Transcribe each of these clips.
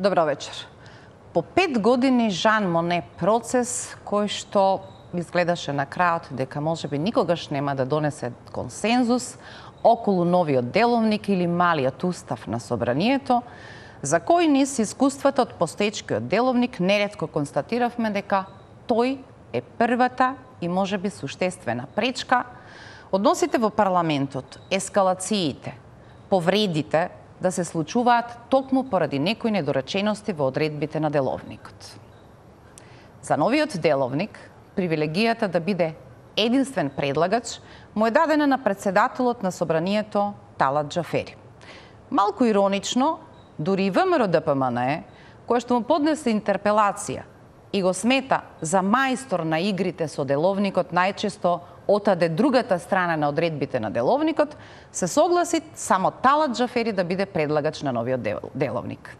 Добро вечер. По 5 години Жан Моне процес кој што изгледаше на крајот дека можеби никогаш нема да донесе консензус околу новиот деловник или малиот устав на собранието, за кој низ искуствата од постоечкиот деловник неретко констатиравме дека тој е првата и можеби суштествена пречка односите во парламентот, ескалациите, повредите да се случуваат токму поради некои недоречености во одредбите на деловникот. За новиот деловник, привилегијата да биде единствен предлагач му е дадена на председателот на собранието Талат Џафери. Малку иронично, дури и ВМРО-ДПМНЕ, кој што му поднесе интерпелација и го смета за мајстор на игрите со деловникот, најчесто отаде другата страна на одредбите на деловникот, се согласи само Талат Џафери да биде предлагач на новиот деловник.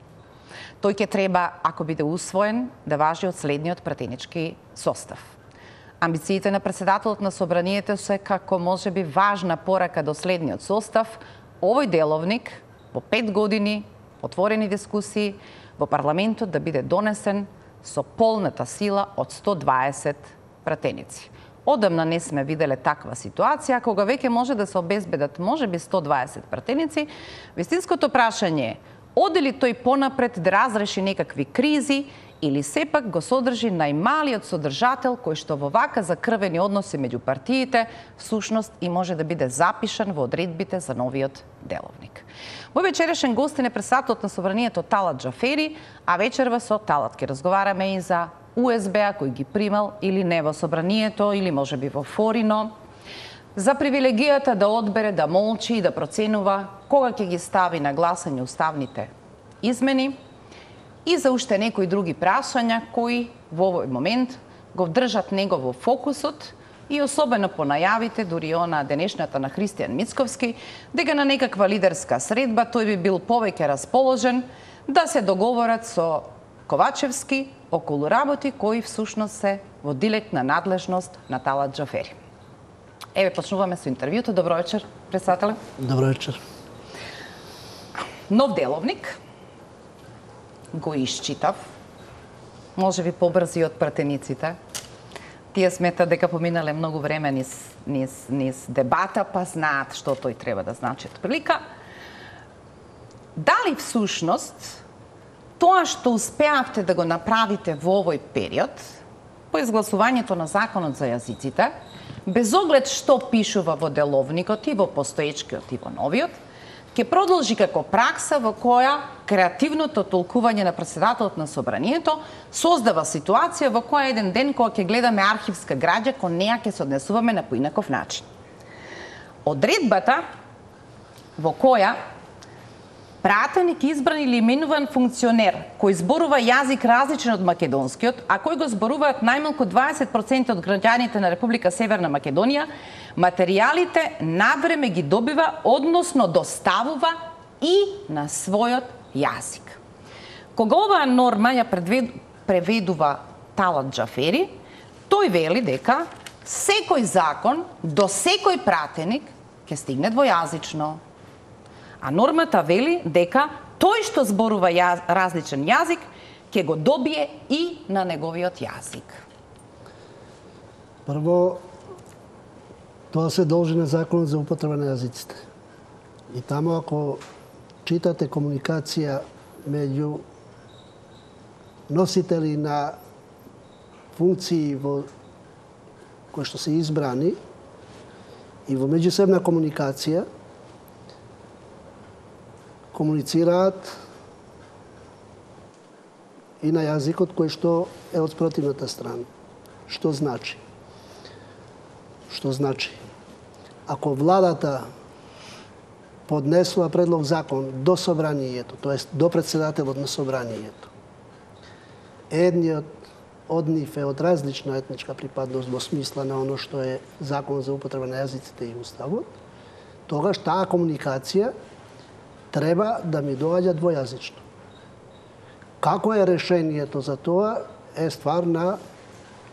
Тој ќе треба, ако биде усвоен, да важи од следниот пратенички состав. Амбициите на председателот на собранието се како можеби важна порака до следниот состав, овој деловник во 5 години отворени дискусии во парламентот да биде донесен со полната сила од 120 пратеници. Одамна не сме виделе таква ситуација, кога веќе може да се обезбедат можеби 120 пратеници. Вистинското прашање е, оде ли тој понапред да разреши некакви кризи или сепак го содржи најмалиот содржател кој што во вака закрвени односи меѓу партиите всушност и може да биде запишан во одредбите за новиот деловник. Мој вечерешен гостин е председателот на собранието Талат Џафери, а вечерва со Талат ќе разговараме и за УСБ-а кој ги примал или не во собранието, или можеби во Форино, за привилегијата да одбере, да молчи и да проценува кога ќе ги стави на гласање уставните измени и за уште некои други прашања кои во овој момент го држат него во фокусот и особено по најавите, дури она денешната на Христијан Мицковски, дека на некаква лидерска средба тој би бил повеќе расположен да се договорат со Ковачевски околу работи кои всушност се во директна надлежност на Талат Џафери. Еве, почнуваме со интервјуто. Добро вечер, председателе. Добро вечер. Нов деловник го исчитав, може би побрзи од пратениците. Тие сметат дека поминале многу време низ дебата, па знаат што тој треба да значи од прилика. Дали всушност тоа што успеавте да го направите во овој период, по изгласувањето на законот за јазиците, без оглед што пишува во деловникот и во постоечкиот и во новиот, ќе продолжи како пракса во која креативното толкување на председателот на собранието создава ситуација во која еден ден кога ќе гледаме архивска граѓа, кон неа ќе се однесуваме на поинаков начин. Одредбата во која пратеник избран или именуван функционер кој зборува јазик различен од македонскиот, а кој го зборуваат најмалку 20% од граѓаните на Република Северна Македонија, материјалите навреме ги добива, односно доставува и на својот јазик. Кога оваа норма ја преведува Талат Џафери, тој вели дека секој закон до секој пратеник ќе стигне двојазично. А нормата вели дека тој што зборува различен јазик ќе го добие и на неговиот јазик. Прво, тоа се должи на законот за употреба на јазиците. И таму ако читате комуникација меѓу носители на функции кои што се избрани и во меѓусебна комуникација, комуницираат и на јазикот кој што е од спротивната страна. Што значи? Што значи? Ако владата поднесува предлог закон до собранието, тоест до председателот на собранието, едниот од нив е од различна етничка припадност во смисла на оно што е закон за употреба на јазиците и уставот, тогаш таа комуникација треба да ми доаѓа двојазично. Како е решението за тоа е ствар на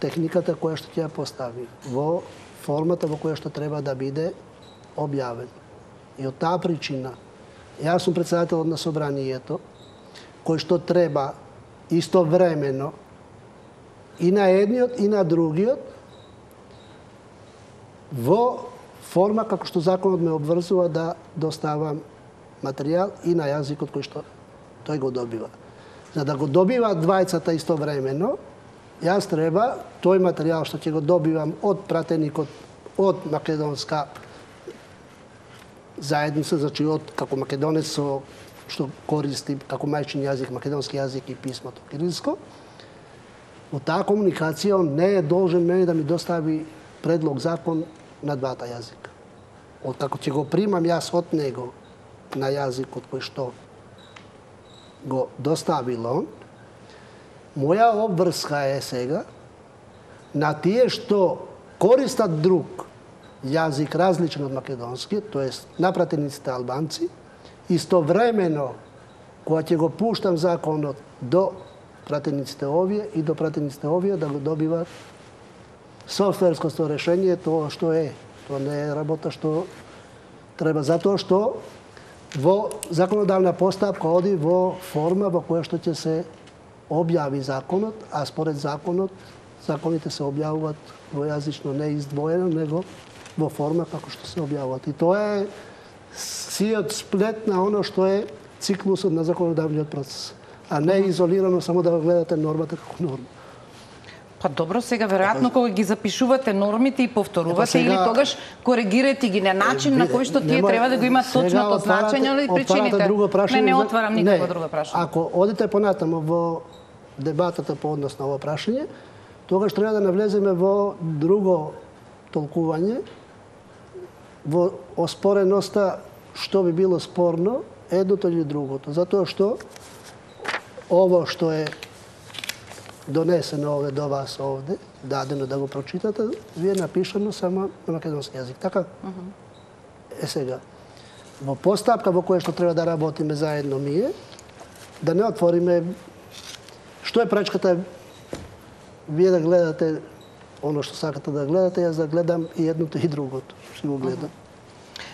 техниката која што ќе ја постави во формата во која што треба да биде објавен. И од таа причина, јас сум председателот на собранието, кој што треба истовремено и на едниот и на другиот во форма како што законот ме обврзува да доставам материјал и на јазикот кој што тој го добива. За да го добива двајцата истовремено, јас треба тој материјал што ќе го добивам од пратеникот од македонска заедница, значи од како македонец што користи како мајчин јазик македонски јазик и писмото кирилско, во таа комуникација он не е должен мене да ми достави предлог закон на двата јазика. Откако ќе го примам јас од него на јазикот кој што го доставил он, моја обврска е сега на тие што користат друг јазик различен од македонски, тоест напратениците албанци, истовремено кога ќе го пуштам законот до пратениците овие и до пратениците овие да го добиват софтверското решение, тоа што е. Тоа не е работа што треба, затоа што во законодавна постапка оди во форма во која што ќе се објави законот, а според законот, законите се објавуваат двојазично, не издвоено, него во форма како што се објавуваат. И тоа е сиот сплет на оно што е циклусот на законодавниот процес, а не изолирано само да гледате нормата како норма. Па добро, сега веројатно кога ги запишувате нормите и повторувате или тогаш коригирате ги на начин на кој што тие треба да го имат точното значење или причините. Не отварам никакво друго прашање. Ако одите понатамо во дебатата по однос на ова прашање, тогаш треба да навлеземе во друго толкување, во оспореноста што би било спорно, едното или другото. Затоа што ово што е донесено овде до вас овде, дадено да го прочитате, ви е напишано само на македонски јазик. Така? Е сега. Во постапка во која што треба да работиме заедно ние, да не отвориме што е пречката вие да гледате оно што сакате да гледате, јас да гледам и едното и другото. Што го гледам.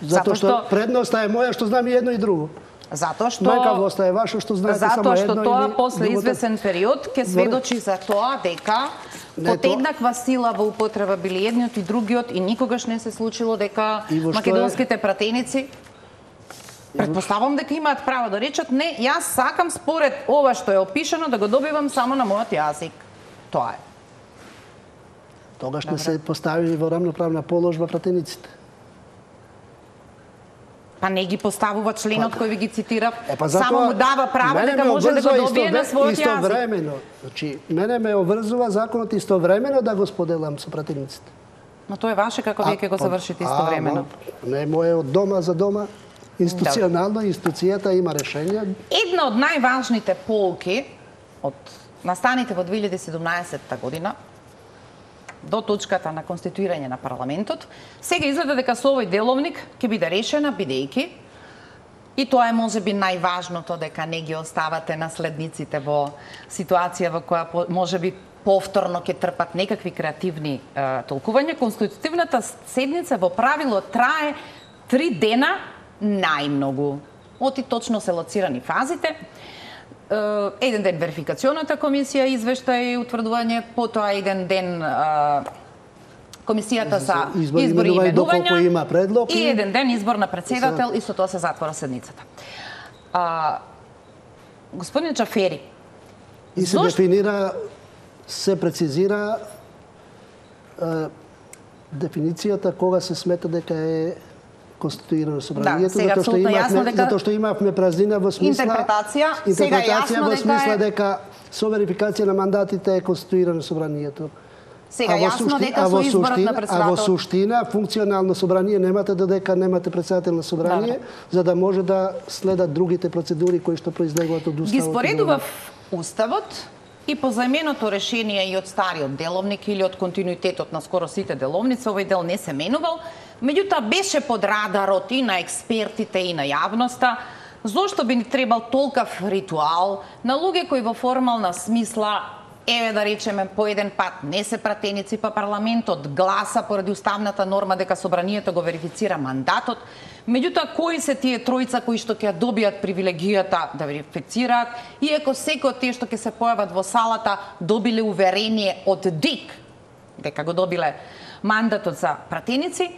Затоа што предноста е моја што знам и едно и друго. Затоа што Мајкавоста е ваша што знаете само едно. Затоа што тоа после извесен период ќе сведочи за тоа дека под еднаква сила во употреба били едниот и другиот и никогаш не се случило дека македонските пратеници претпоставам дека имаат право да речат не, јас сакам според ова што е опишано да го добивам само на мојот јазик. Тоа е. Тогаш не се поставили во рамноправна положба пратениците. Па не ги поставува членот кој ви ги цитира, само му дава право дека може да го добие на својот јазик. Истовремено, значи, мене ме обврзува законот истовремено да го споделам со пратениците. Но тоа е ваше како вие ќе го завршите истовремено. Не е мое од дома за дома, институционално, институцијата има решение. Една од најважните полки од настаните во 2017 година, до точката на конституирање на парламентот, сега изгледа дека со овој деловник ќе биде решена, бидејќи, и тоа е можеби најважното, дека не ги оставате наследниците во ситуација во која можеби повторно ќе трпат некакви креативни толкувања. Конститутивната седница во правило трае 3 дена најмногу. Оти точно се лоцирани фазите. Еден ден верификационата комисија извештај и утврдување, потоа еден ден комисијата за избори и именувања и еден ден избор на председател и со тоа се затвора седницата. Господин Џафери, и се дефинира, се прецизира дефиницијата кога се смета дека е конституирано собранието, затоа што имавме празнина во смисла интерпретација во смисла дека со верификација на мандатите е конституирано собранието. Сега јасно дека со изборот на председател. А во суштина функционално собрание немате додека немате председател на собрание, за да може да следат другите процедури кои што произлегуваат од уставот. Ги споредував уставот и по заменото решение и од стариот деловник или од континуитетот на скоро сите деловници, овој дел не се менувал, меѓутоа беше под радарот и на експертите и на јавноста, зошто би ни требал толкав ритуал на луѓе кои во формална смисла, еве да речеме по еден пат не се пратеници, па парламентот гласа поради уставната норма дека собранието го верифицира мандатот, Меѓутоа, кои се тие тројца кои што ќе добијат привилегијата да верифицираат, иако секој од тие што ќе се појават во салата добиле уверение од ДИК дека го добиле мандатот за пратеници,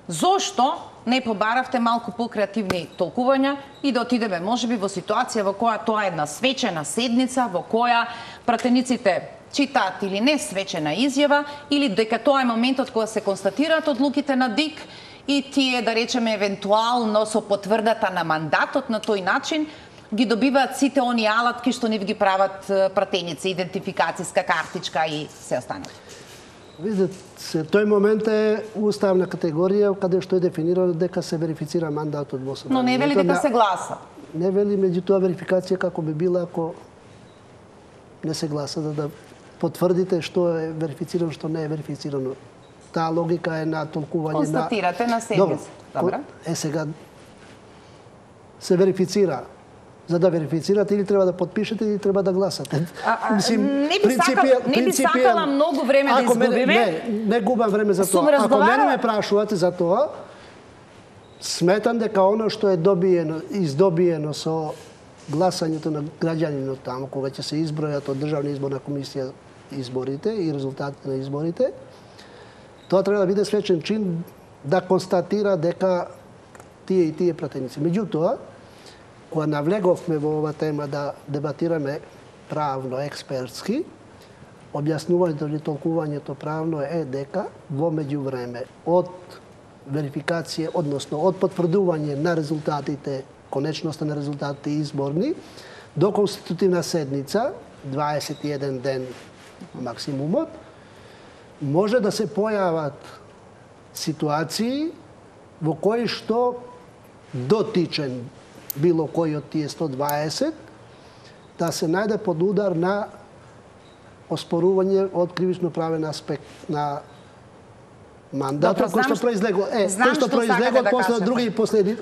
зошто не побаравте малку покреативни толкувања и да отидеме можеби во ситуација во која тоа е една свечена седница, во која пратениците читаат или не свечена изјава, или дека тоа е моментот кога се констатираат одлуките на ДИК и тие, да речеме, евентуално со потврдата на мандатот на тој начин, ги добиваат сите они алатки што нив ги прават пратеници, идентификацијска картичка и се останало. Видите, тој момент е уставна категорија каде што е дефинирано дека се верифицира мандатот во собранието. Но не вели дека се гласа. Не вели, меѓутоа верификација како би била ако не се гласа, за да потврдите што е верифицирано, што не е верифицирано. Таа логика е на толкување на... Констатирате на седница. Добро. Сега се верифицира. За да верифицирате или треба да подпишете или треба да гласате. Не би сакала многу време да изгубиме. Не губам време за тоа. Ако мене ме прашувате за тоа, сметам дека оно што е издобиено со гласањето на граѓанинот таму, кога ќе се избројат од Државна изборна комисија изборите и резултатите на изборите, тоа треба да биде свечен чин да констатира дека тие и тие пратеници. Меѓутоа, кога навлеговме во ова тема да дебатираме правно, експертски, објаснувањето или толкувањето правно е дека во меѓувреме од верификација, односно од потврдување на резултатите, конечноста на резултатите изборни, до конститутивна седница, 21 ден максимумот, може да се појават ситуации во кои што дотичен било кој од тие 120 да се најде под удар на оспорување од кривично правен аспект на мандатот кој што произлегло после други процедури.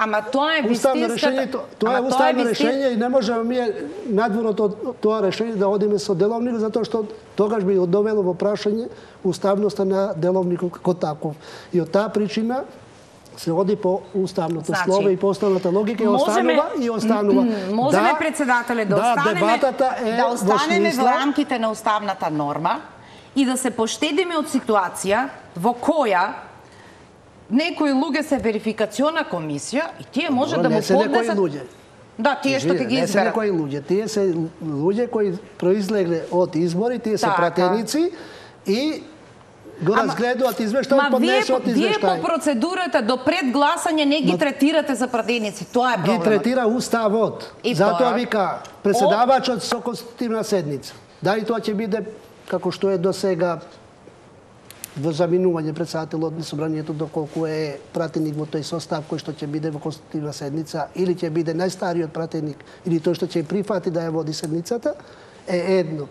Ама тоа е вистинската. Тоа е уставно решение и не можеме ние надвор од тоа решение да одиме со деловник, затоа што тогаш би довело во прашање уставноста на деловникот како таков. И од таа причина се оди по уставното слово и по уставната логика и останува. Можеме, председателе, да останеме во рамките на уставната норма и да се поштедиме од ситуација во која некои луѓе се верификациона комисија и тие може да му поднесат... Да, тие што ќе ги изберат. Не се некои луѓе, тие се луѓе кои произлегле од избори, тие се пратеници и го разгледуваат извештај, поднесуваат извештај. Вие по процедурата до пред гласање не ги третирате за пратеници, тоа е проблемот. Ги третира уставот. Затоа вика преседавачот со конститутивна седница. Дали тоа ќе биде како што е до сега во заминување председателот на собранието, доколку е пратеник во тој состав кој што ќе биде во конститутивна седница или ќе биде најстариот пратеник или тој што ќе прифати да ја води седницата, е едно.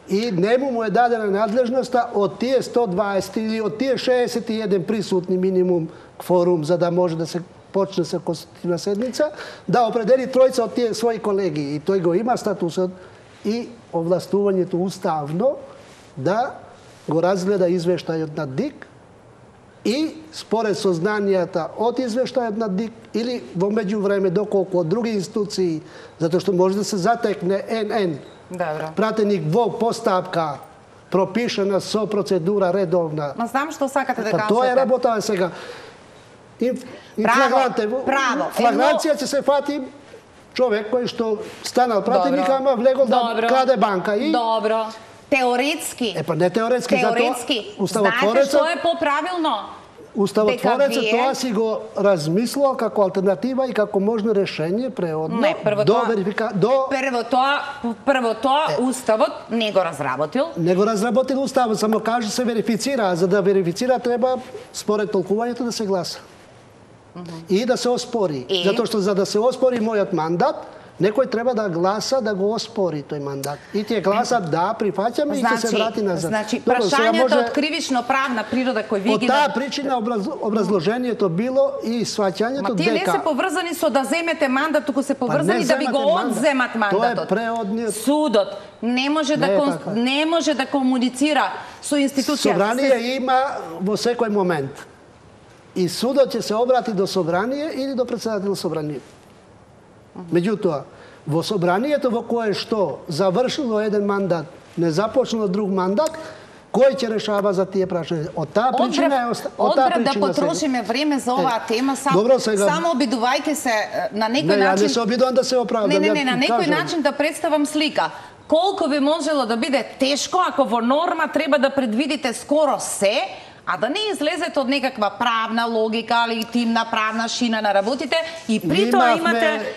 И нему му е дадена надлежноста од тие 120 или од тие 61 присутни минимум кворум за да може да се почне со конститутивна седница, да определи тројца од тие своји колеги. И тој го има статусот и овластувањето уставно да го разгледа извештајот на ДИК и според сознанијата од извештајот на ДИК или во меѓувреме доколку од други институции, затоа што може да се затекне НН пратеник во постапка пропишена со процедура редовна. Ма знам што сакате да кажете. Тоа е работа сега. Флаграција ќе се фати човек кој што станал пратеник, ама влегол да краде банка. Добро. Теоретски. Не теоретски, затоа знаете што е поправилно? Уставотворецот тоа си го размислувал како алтернатива и како можно решение преодно Прво тоа уставот не го разработил. Не го разработил уставот, само каже се верифицира, а за да верифицира треба според толкувањето да се гласа. И да се оспори. Затоа што за да се оспори мојот мандат, некој треба да гласа да го оспори тој мандат. И тие гласат да, прифаќаме и ќе се врати назад. Значи, прашањето од кривично-правна природа кој ви ги... Од таа причина образложението било и сваќањето дека... Тие не се поврзани со да земете мандат, туку се поврзани да ви го одземат мандатот. Тоа е преодниот... Судот не може да комуницира со институција. Собрание има во секој момент. и судот ќе се обрати до собрание или до председател собрание. Меѓутоа, во собранието во кое што завршило еден мандат, не започнало друг мандат, кој ќе решава за тие прашања? Од таа причина да потрошиме време за оваа тема, само обидувајќи се на некој начин. Не, не се обидувам да се оправдам. Не, на некој начин да представам слика. Колку би можело да биде тешко ако во норма треба да предвидите скоро се, а да не излезете од некаква правна логика, легитимна правна шина на работите и при тоа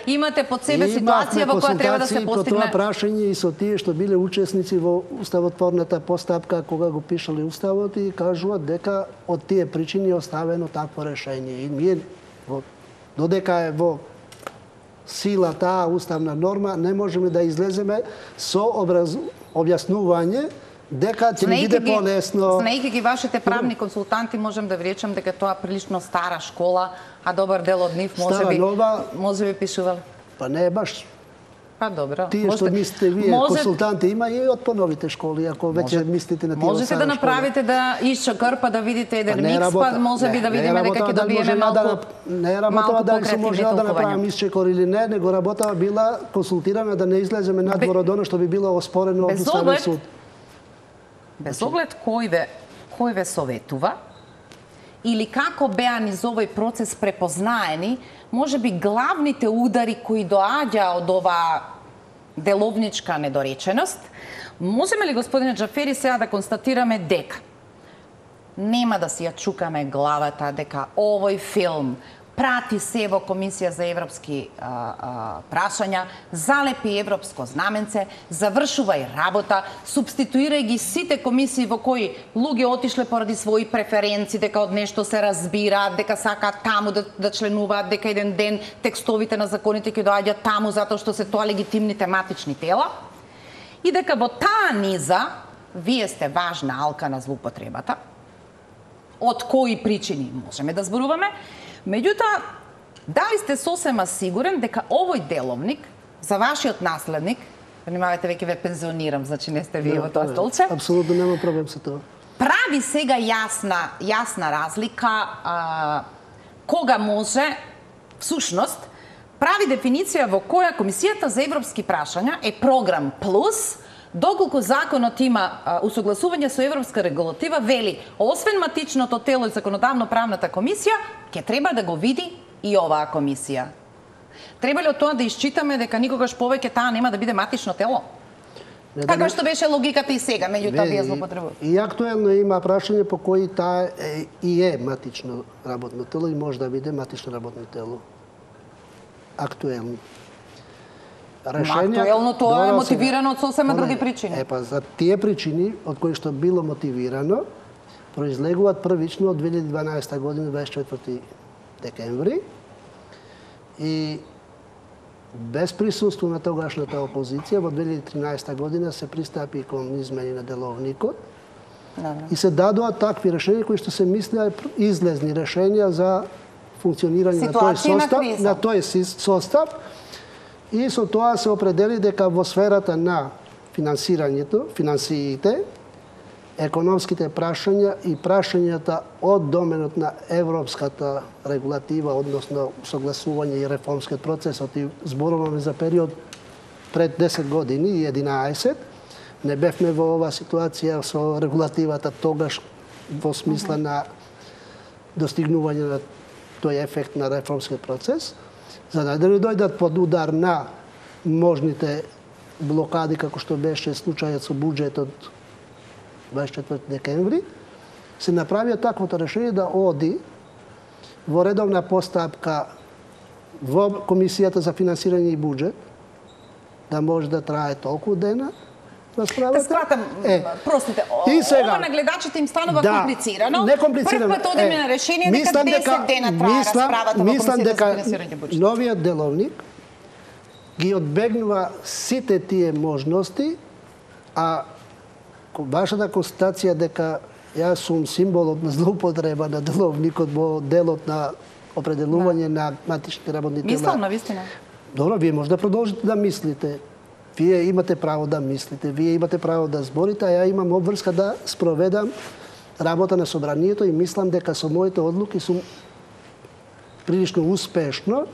имате под себе ситуација во која треба да се постигне. По тоа прашање и со тие што биле учесници во уставотворната постапка кога го пишале уставот и кажуваат дека од тие причини е оставено такво решение. И ние додека е во сила таа уставна норма не можеме да излеземе со објаснување дека ќе ни биде полесно. Знаејќи ги вашите правни консултанти, можем да ви речем дека тоа прилично стара школа, а добар дел од нив може би пишувал. Па не е баш. Па добро. Тие што мислите вие консултанти има и од поновите школи, ако веќе мислите на тие. Можете да направите да исчекрпа да видите еден микс, па може би да видиме дека ќе добиеме малку. Не е работа дали се може да направиме исчекор или не, него работа била консултирана да не излеземе надвор од оно што би било оспорено од Уставниот суд. Без оглед кој ве советува или како беа низ овој процес препознаени, може би главните удари кои доаѓа од оваа деловничка недореченост, можеме ли, господине Џафери, сега да констатираме дека нема да си ја чукаме главата дека овој филм прати се во Комисија за европски прашања, залепи европско знаменце, завршува и работа, субституира ги сите комисии во кои луѓе отишле поради своји преференции, дека од нешто се разбираат, дека сакаат таму да членуваат, дека еден ден текстовите на законите ќе доаѓаат таму затоа што се тоа легитимни тематични тела, и дека во таа низа вие сте важна алка на злоупотребата, од кои причини можеме да зборуваме. Меѓутоа, дали сте сосема сигурен дека овој деловник за вашиот наследник, внимавајте, веќе ве пензионирам, значи не сте вие во тоа столче. Апсолутно нема проблем со тоа. Прави сега јасна разлика кога може, всушност, прави дефиниција во која Комисијата за европски прашања е програм плюс, доколку законот има усогласување со европска регулатива, вели, освен матичното тело и законодавно-правната комисија, ќе треба да го види и оваа комисија. Треба ли од тоа да исчитаме дека никогаш повеќе таа нема да биде матично тело? Така што беше логиката и сега, меѓутоа вие злоупотребувате. И актуелно има прашање по кои таа и е матично работно тело и може да биде матично работно тело. Актуелно. Актуелно тоа е мотивирано од сосема други причини. Па за тие причини од кои што било мотивирано, произлегуваат првично од 2012 година, 24 декември, и без присуство на тогашната опозиција во 2013 година се пристапи кон измени на деловникот и се дадоа такви решенија кои што се мислеа излезни решенија за функционирање на тој состав. И со тоа се определи дека во сферата на финансирањето, финансиите, економските прашања и прашањата од доменот на европската регулатива, односно согласување и реформскиот процесот, и зборуваме за период пред 10 години и 11, не бевме во оваа ситуација со регулативата тогаш во смисла на достигнување на тој ефект на реформскиот процес, за да не дојдат под удар на можните блокади, како што беше случајот со буџетот 24 декември, се направија таквото решение да оди во редовна постапка во Комисијата за финансирање и буџет, да може да трае толку дена, Да сватам, простите, ова на гледачите им станува комплицирано. Не комплицирано. Прв пат одиме на решение дека 10 дена трае расправата во Комисијата за финансирање и буџет. Новиот деловник ги одбегнува сите тие можности, а вашата констатација дека јас сум символот на злоупотреба на деловникот во делот на определување на матични работни тела. Мислам на вистина. Добро, вие може да продолжите да мислите. Вие имате право да мислите, вие имате право да зборите, а ја имам обврска да спроведам работа на собранието и мислам дека со моите одлуки сум прилично успешно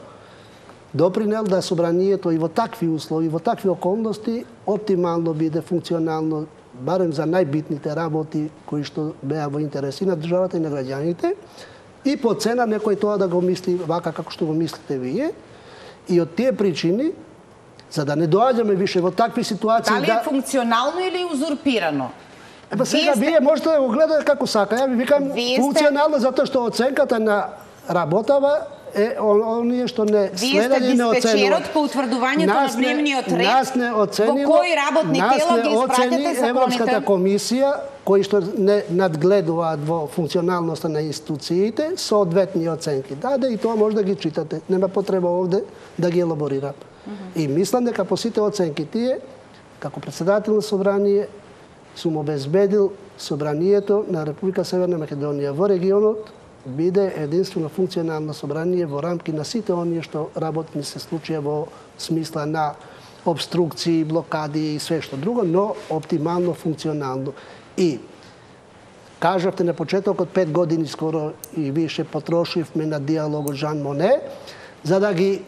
допринел да собранието и во такви услови, во такви околности оптимално биде функционално, барем за најбитните работи кои што беа во интереси на државата и на граѓаните, и по цена некој тоа да го мисли вака како што го мислите вие. И од тие причини, за да не доаѓаме више во такви ситуации... Дали е функционално или узурпирано? Еба сега вие можете да го гледате како сака. Ја ви викам функционално затоа што оценката на работава е оние што не следат и не оценуваат. Вие сте диспечерот по утврдувањето на дневниот ред. Нас не оценило, во кои работни тела ги испратите законите? Европската комисија, кои што не надгледуваат во функционалноста на институциите, соодветни оценки даде и тоа може да ги читате. Нема потреба овде да ги елаборирам. И мислам дека по сите оценки тие, како председател на собрание, сум обезбедил собранието на Република Северна Македонија во регионот биде единствено функционално собрание во рамки на сите оние што работни се случија во смисла на обструкции, блокади и све што друго, но оптимално функционално. И кажавте на почетокот 5 години скоро и више потрошивме на диалогот Жан Моне, за да ги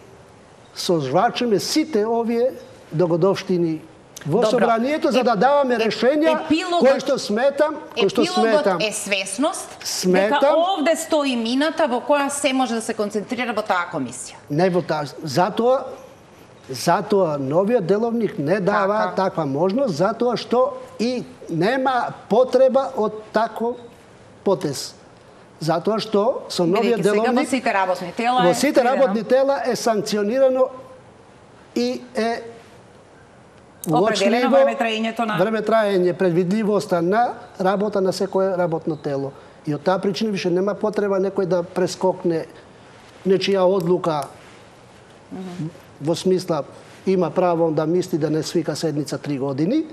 созвачиме сите овие догодовштини во собранието, за да даваме решенија кои што сметам... Епилогот е свесност дека овде стои мината во која се може да се концентрира во таа комисија. Не во таа. Затоа новиот деловник не дава таква можност, затоа што и нема потреба од таков потез. Затоа што со новиот деловник... Во сите работни тела во сите работни тела е санкционирано и е определено времетраење, предвидливоста на работа на секое работно тело. И од таа причина више нема потреба некој да прескокне нечија одлука во смисла има право да мисли да не свика седница 3 години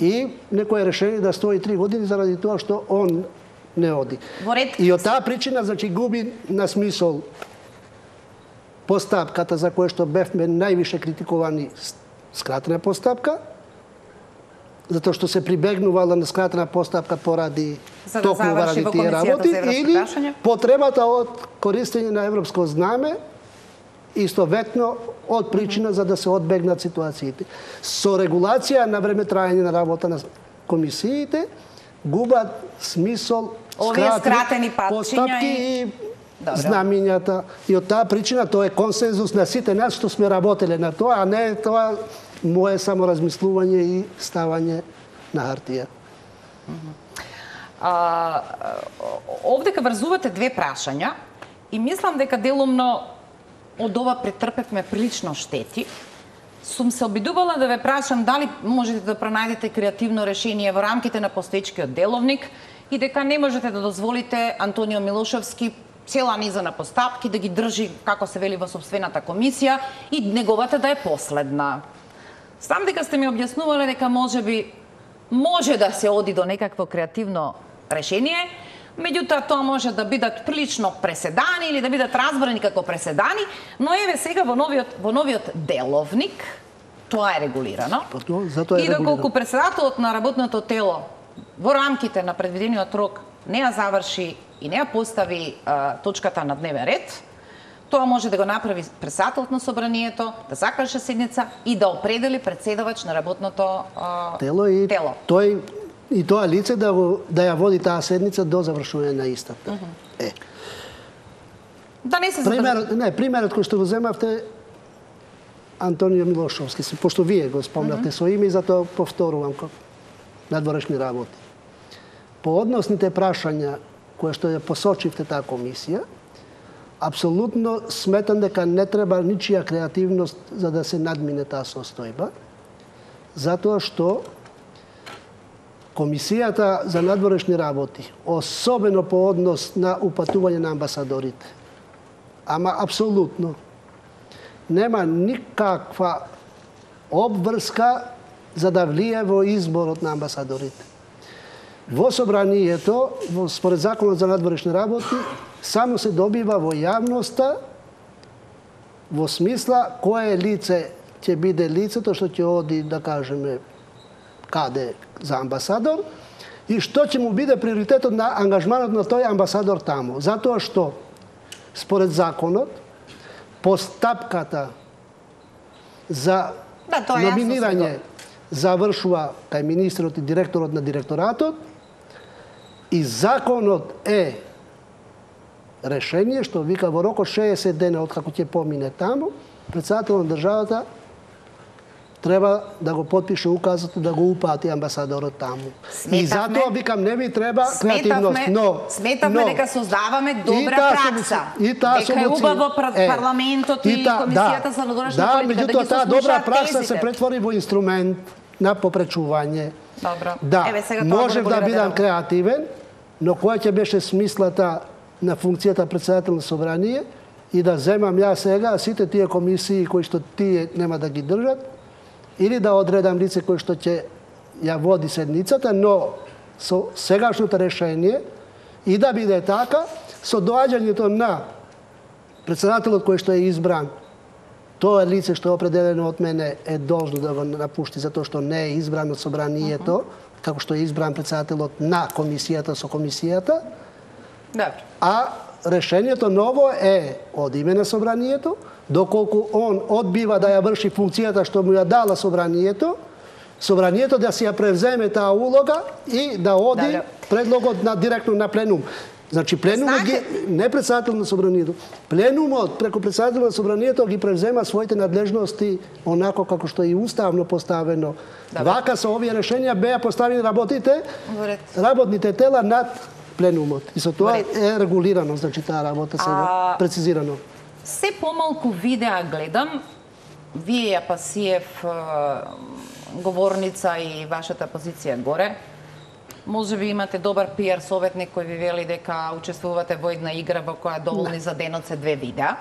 и некое решение да стои 3 години заради тоа што он не оди. И од таа причина, значи, губи на смисол постапката за која што бевме највише критикувани, скратена постапка, затоа што се прибегнувала на скратена постапка поради токму ради тие работи, или потребата од користење на европско знаме, истоветно од причина за да се одбегнат ситуациите. Со регулација на времетраење на работа на комисиите, губат смисол скратени постапки и знамињата. И од таа причина тоа е консензус на сите нас што сме работеле на тоа, а не тоа мое само размислување и ставање на хартија. Овдека врзувате две прашања и мислам дека делумно од ова претрпевме прилично штети. Сум се обидувала да ве прашам дали можете да пронајдете креативно решение во рамките на постоечкиот деловник и дека не можете да дозволите Антонио Милошевски цела низа на постапки да ги држи, како се вели, во собствената комисија и неговата да е последна. Сам дека сте ми објаснувале дека можеби може да се оди до некакво креативно решение, меѓутоа тоа може да бидат прилично преседани или да бидат разбрани како преседани, но еве сега во новиот деловник тоа е регулирано. И доколку председателот на работното тело во рамките на предвидениот рок не ја заврши и не ја постави точката на дневен ред, тоа може да го направи председателот на собранието, да закаже седница и да определи председавач на работното тело. И тоа лице да ја води таа седница до завршување на истата. Да не се примерот кој што го земавте Антонио Милошевски, пошто вие го спомнавте со име и затоа повторувам надворешни работи. По односните прашања кои што ја посочивте таа комисија, апсолутно сметам дека не треба ничија креативност за да се надмине таа состојба, затоа што Комисијата за надворешни работи, особено по однос на упатување на амбасадорите, ама апсолутно нема никаква обврска за да влие во изборот на амбасадорите. Во собранието, според Законот за надворешни работи, само се добива во јавноста во смисла кое лице ќе биде лицето што ќе оди, да кажеме, каде за амбасадор и што ќе му биде приоритетот на ангажманот на тој амбасадор таму. Затоа што според законот, постапката за номинирање завршува кај министерот и директорот на директоратот и законот е решение што вика во рок од 60 дена од како ќе помине таму, председателот на државата треба да го потпише указот да го упати амбасадорот таму. И затоа викам не ви треба креативност, но сметавме дека создаваме добра пракса. Дека е убаво парламентот и комисијата за надворешна политика да ги таа добра пракса се претвори во инструмент на попречување. Добро. Да, можев да бидам креативен, но која ќе беше смислата на функцијата председател на собрание и да земам ја сега сите тие комисии кои што тие нема да ги држат, или да одредам лице кој што ќе ја води седницата, но со сегашното решение и да биде така, со доаѓањето на председателот кој што е избран, тоа лице што е определено од мене е должно да го напушти затоа што не е избран од собранието, како што е избран председателот на комисијата со комисијата. А решението ново е од име на собранието, доколку он одбива да ја врши функцијата што му ја дала собранието, собранието да си ја превземе таа улога и да оди предлогот на директно на пленум. Значи пленумот ги не председател на собранието, пленумот преку председател на собранието ги превзема своите надлежности онако како што е и уставно поставено. Вака со овие решенија беа поставени работните тела над пленумот. И со тоа е регулирано, значи таа работа сега прецизирано. Се помалку видеа гледам, вие Апасиев говорница и вашата позиција горе. Може би имате добар пиар советник кој ви вели дека учествувате во една игра во која доволни за денот се 2 видеа.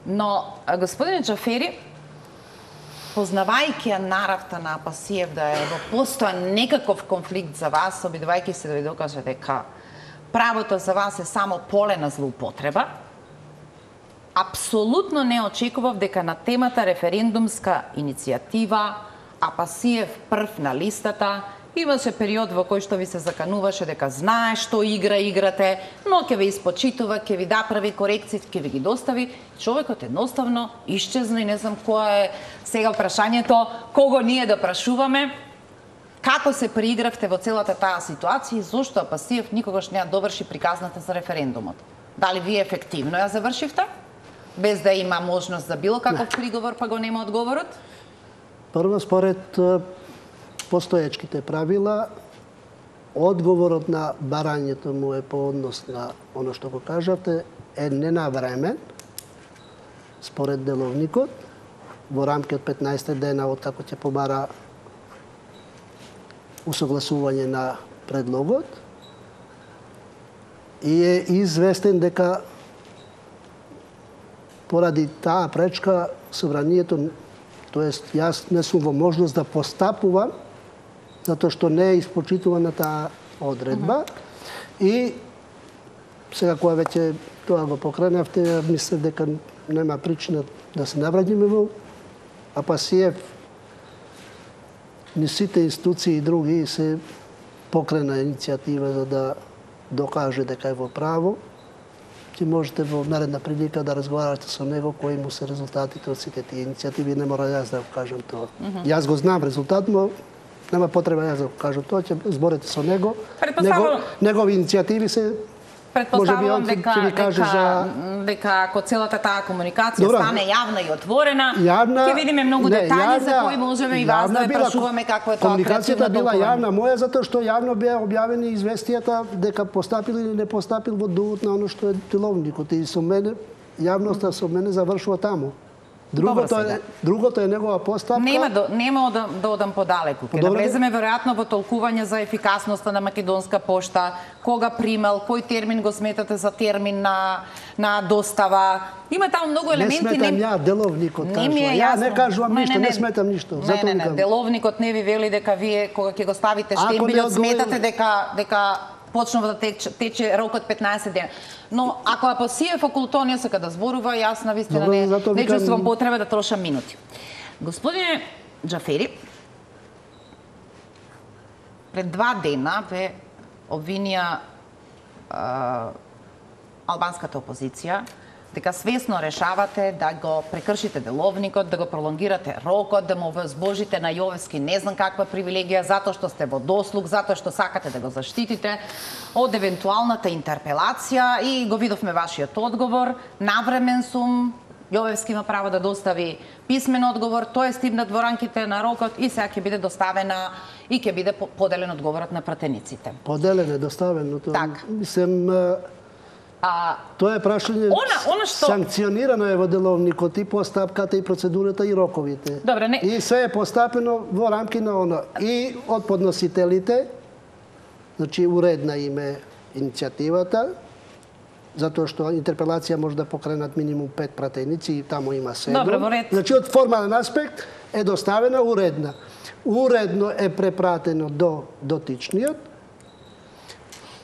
Но, господине Џафери, познавајќи ја наравта на Апасиев да е во постојан некаков конфликт за вас, обидувајќи се да ви докаже дека правото за вас е само поле на злоупотреба, апсолутно не очекував дека на темата референдумска иницијатива Апасиев прв на листата. Имаше период во кој што ви се закануваше дека знае што играте, но ќе ви испочитува, ќе ви да прави корекции, ќе ви ги достави. Човекот едноставно исчезна и не знам која е сега прашањето, кого ние да прашуваме, како се приигравте во целата таа ситуација и зошто Апасиев никогаш не ја доврши приказната за референдумот. Дали вие ефективно ја завршивте? Без да има можност за било каков приговор, па го нема одговорот? Прво, според постоечките правила, одговорот на барањето му е по однос на оно што го кажавте, е ненавремен, според деловникот, во рамки од 15 дена од како ќе побара усогласување на предлогот и е известен дека поради таа пречка собранието, тоест јас не сум во можност да постапувам затоа што не е испочитувана таа одредба и сега кога веќе тоа го покренавте, мислам дека нема причина да се навраќаме во Апасиев. Ни сите институции и други се покрена иницијатива за да докаже дека е во право. Ти можете во наредна прилика да разговарате со него кои му се резултатите од сите тие иницијативи, не мора јас да го кажам тоа. Јас го знам резултат, но нема потреба јас да го кажам тоа, ќе зборите со него. Негови иницијативи се Предпоставувам дека ако целата таа комуникација стане јавна и отворена, ќе видиме многу детаљи за кои можеме и вас да прашуваме какво е тоа креативно комуникацијата била јавна моја затоа што јавно беа објавени известијата дека постапил или не постапил во дувот на оно што е деловникот и со мене јавноста со мене завршува таму. Другото е негова постапка. Нема да одам подалеку. Ке навлеземе веројатно во толкување за ефикасноста на Македонска пошта, кога примал, кој термин го сметате за термин на достава. Има таму многу елементи. Не сметам ја, деловникот кажува. Ја не кажувам ништо, не сметам ништо. Не, деловникот не ви вели дека вие кога ќе го ставите штембилот сметате дека почнува да тече рокот 15 дена. Но ако Апасиев околу тоа не сака да зборува, јас навистина не чувствувам потреба да трошам минути. Господине Џафери, пред 2 дена ве обвинија албанската опозиција дека свесно решавате да го прекршите деловникот, да го пролонгирате рокот, да му возбожите на Јовевски не знам каква привилегија, затоа што сте во дослуг, затоа што сакате да го заштитите од евентуалната интерпелација и го видовме вашиот одговор. Навремен сум, Јовевски има право да достави писмен одговор, тој е стигнат во рамките на рокот и сега ќе биде доставена и ќе биде поделен одговорот на пратениците. Поделен е, доставен, но тоа мислам тоа е прашање што санкционирано е во деловникот и постапката и процедурата и роковите. Добре, не. И се е постапено во рамки на оно и од подносителите, значи уредна им е иницијативата, затоа што интерпелација може да покренат минимум 5 пратеници и таму има 7. Добре, во ред. Значи од формален аспект е доставена уредна. Уредно е препратено до дотичниот.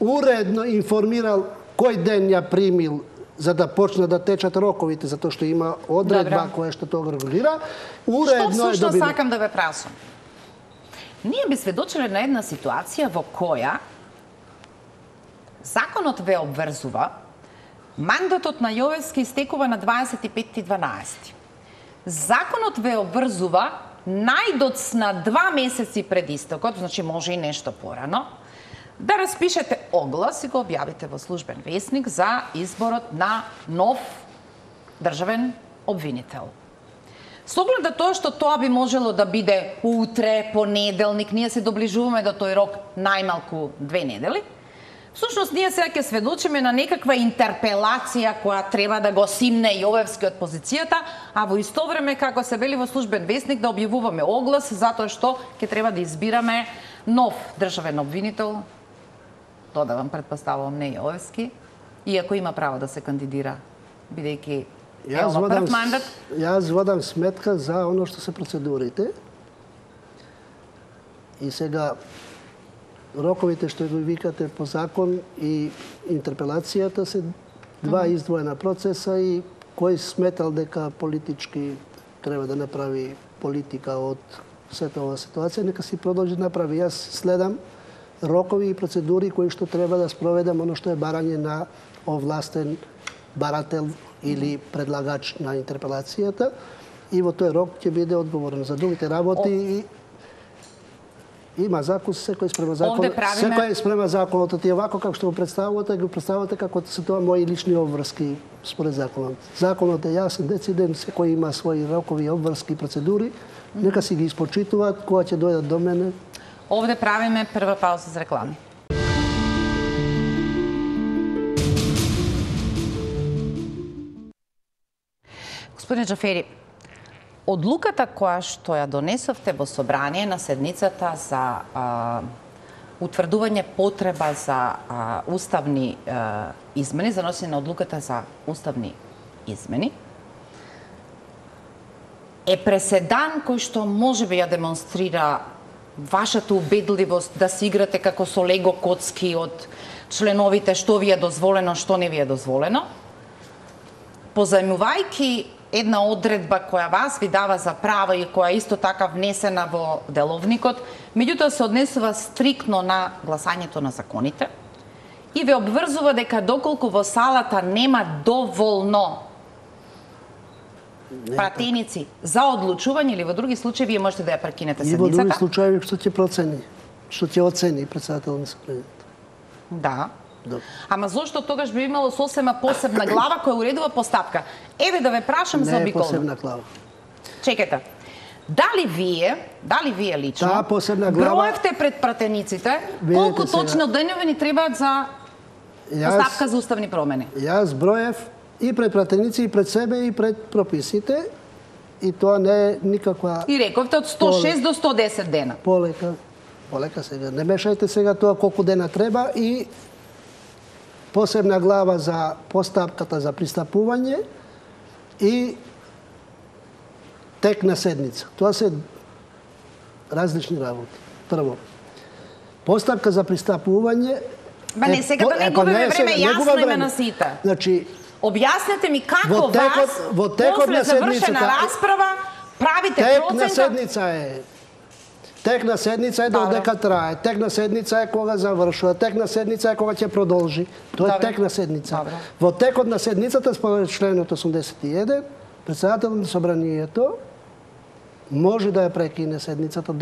Уредно информирал кој ден ја примил за да почне да течат роковите, затоа што има одредба која што тоа регулира. Уредно што сакам да ве прашам. Ние би сведочеле на една ситуација во која законот ве обврзува, мандатот на Јовевски истекува на 25.12. Законот ве обврзува најдоцна 2 месеци пред истекот, значи може и нешто порано, да распишете оглас и го објавите во службен весник за изборот на нов државен обвинител. Со оглед на тоа што тоа би можело да биде утре, понеделник, ние се доближуваме до тој рок најмалку 2 недели, всушност ние сега ќе сведочиме на некаква интерпелација која треба да го симне Јовевски од позицијата, а во исто време, како се вели во службен весник, да објавуваме оглас затоа што ќе треба да избираме нов државен обвинител, додавам, предпоставувам, не Јовевски, иако има право да се кандидира, бидејќи е ова прв мандат. Јас водам сметка за оно што се процедурите. И сега роковите што го викате по закон и интерпелацијата се два издвоена процеса и кој сметал дека политички треба да направи политика од сета ова ситуација, нека си продолжи да направи. Јас следам рокови и процедури кои што треба да спроведам оно што е барање на овластен барател или предлагач на интерпелацијата и во тој рок ќе биде одговорен за другите работи и има закон, секој спрема закон. Секој спрема законот, и овако како што го представувате како се тоа мои лични обврски според законот. Законот е јасен, дециден, секој има своји рокови, обврски, процедури, нека си ги испочитуваат, кога ќе дојдат до мене. Овде правиме прва пауза за реклами. Господин Џафери, одлуката која што ја донесовте во собрание на седницата за утврдување потреба за уставни измени, за носење на одлуката за уставни измени, е преседан кој што можеби ја демонстрира вашата убедливост да се играте како со лего коцки од членовите што ви е дозволено, што не ви е дозволено, позајмувајќи една одредба која вас ви дава за право и која исто така внесена во деловникот, меѓутоа се однесува стриктно на гласањето на законите и ве обврзува дека доколку во салата нема доволно пратеници за одлучување или во други случаи вие можете да ја прекинете седницата. И во други случаи што ќе процени, што ќе оцени претседател на Собранието. Да. Ама зошто тогаш би имало сосема посебна глава која уредува постапка? Еве да ве прашам за обиколно. Не е посебна глава. Чекайте. Дали вие лично таа посебна глава броевте пред пратениците колку точно денови ни требаат за постапка за уставни промени? Јас броев и пред пратеници, и пред себе, и пред прописите, и тоа не е никаква... И рековте од 106 до 110 дена. Полека сега. Не мешајте сега тоа колку дена треба и посебна глава за постапката за пристапување и тек на седница. Тоа се различни работи. Прво, постапка за пристапување... Ма не, сега да не губиме време, јасно име на сите. Значи, објаснете ми како вас, после завршена расправа, правите процента... Тек на седница е. Текна седница е додека трае, текна седница е кога завршува, текна седница е кога ќе продолжи. Тоа е текна седница. Во текот на седницата, според членот 81, председателот на собранието може да ја прекине седницата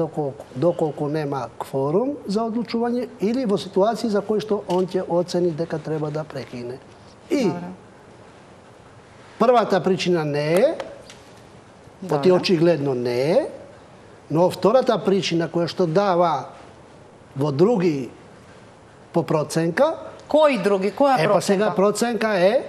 доколку нема кворум за одлучување или во ситуации за кои што он ќе оцени дека треба да прекине. И првата причина не е, поти очигледно не е, но втората причина која што дава во други по проценка... Кои други? Која проценка? Па сега проценка е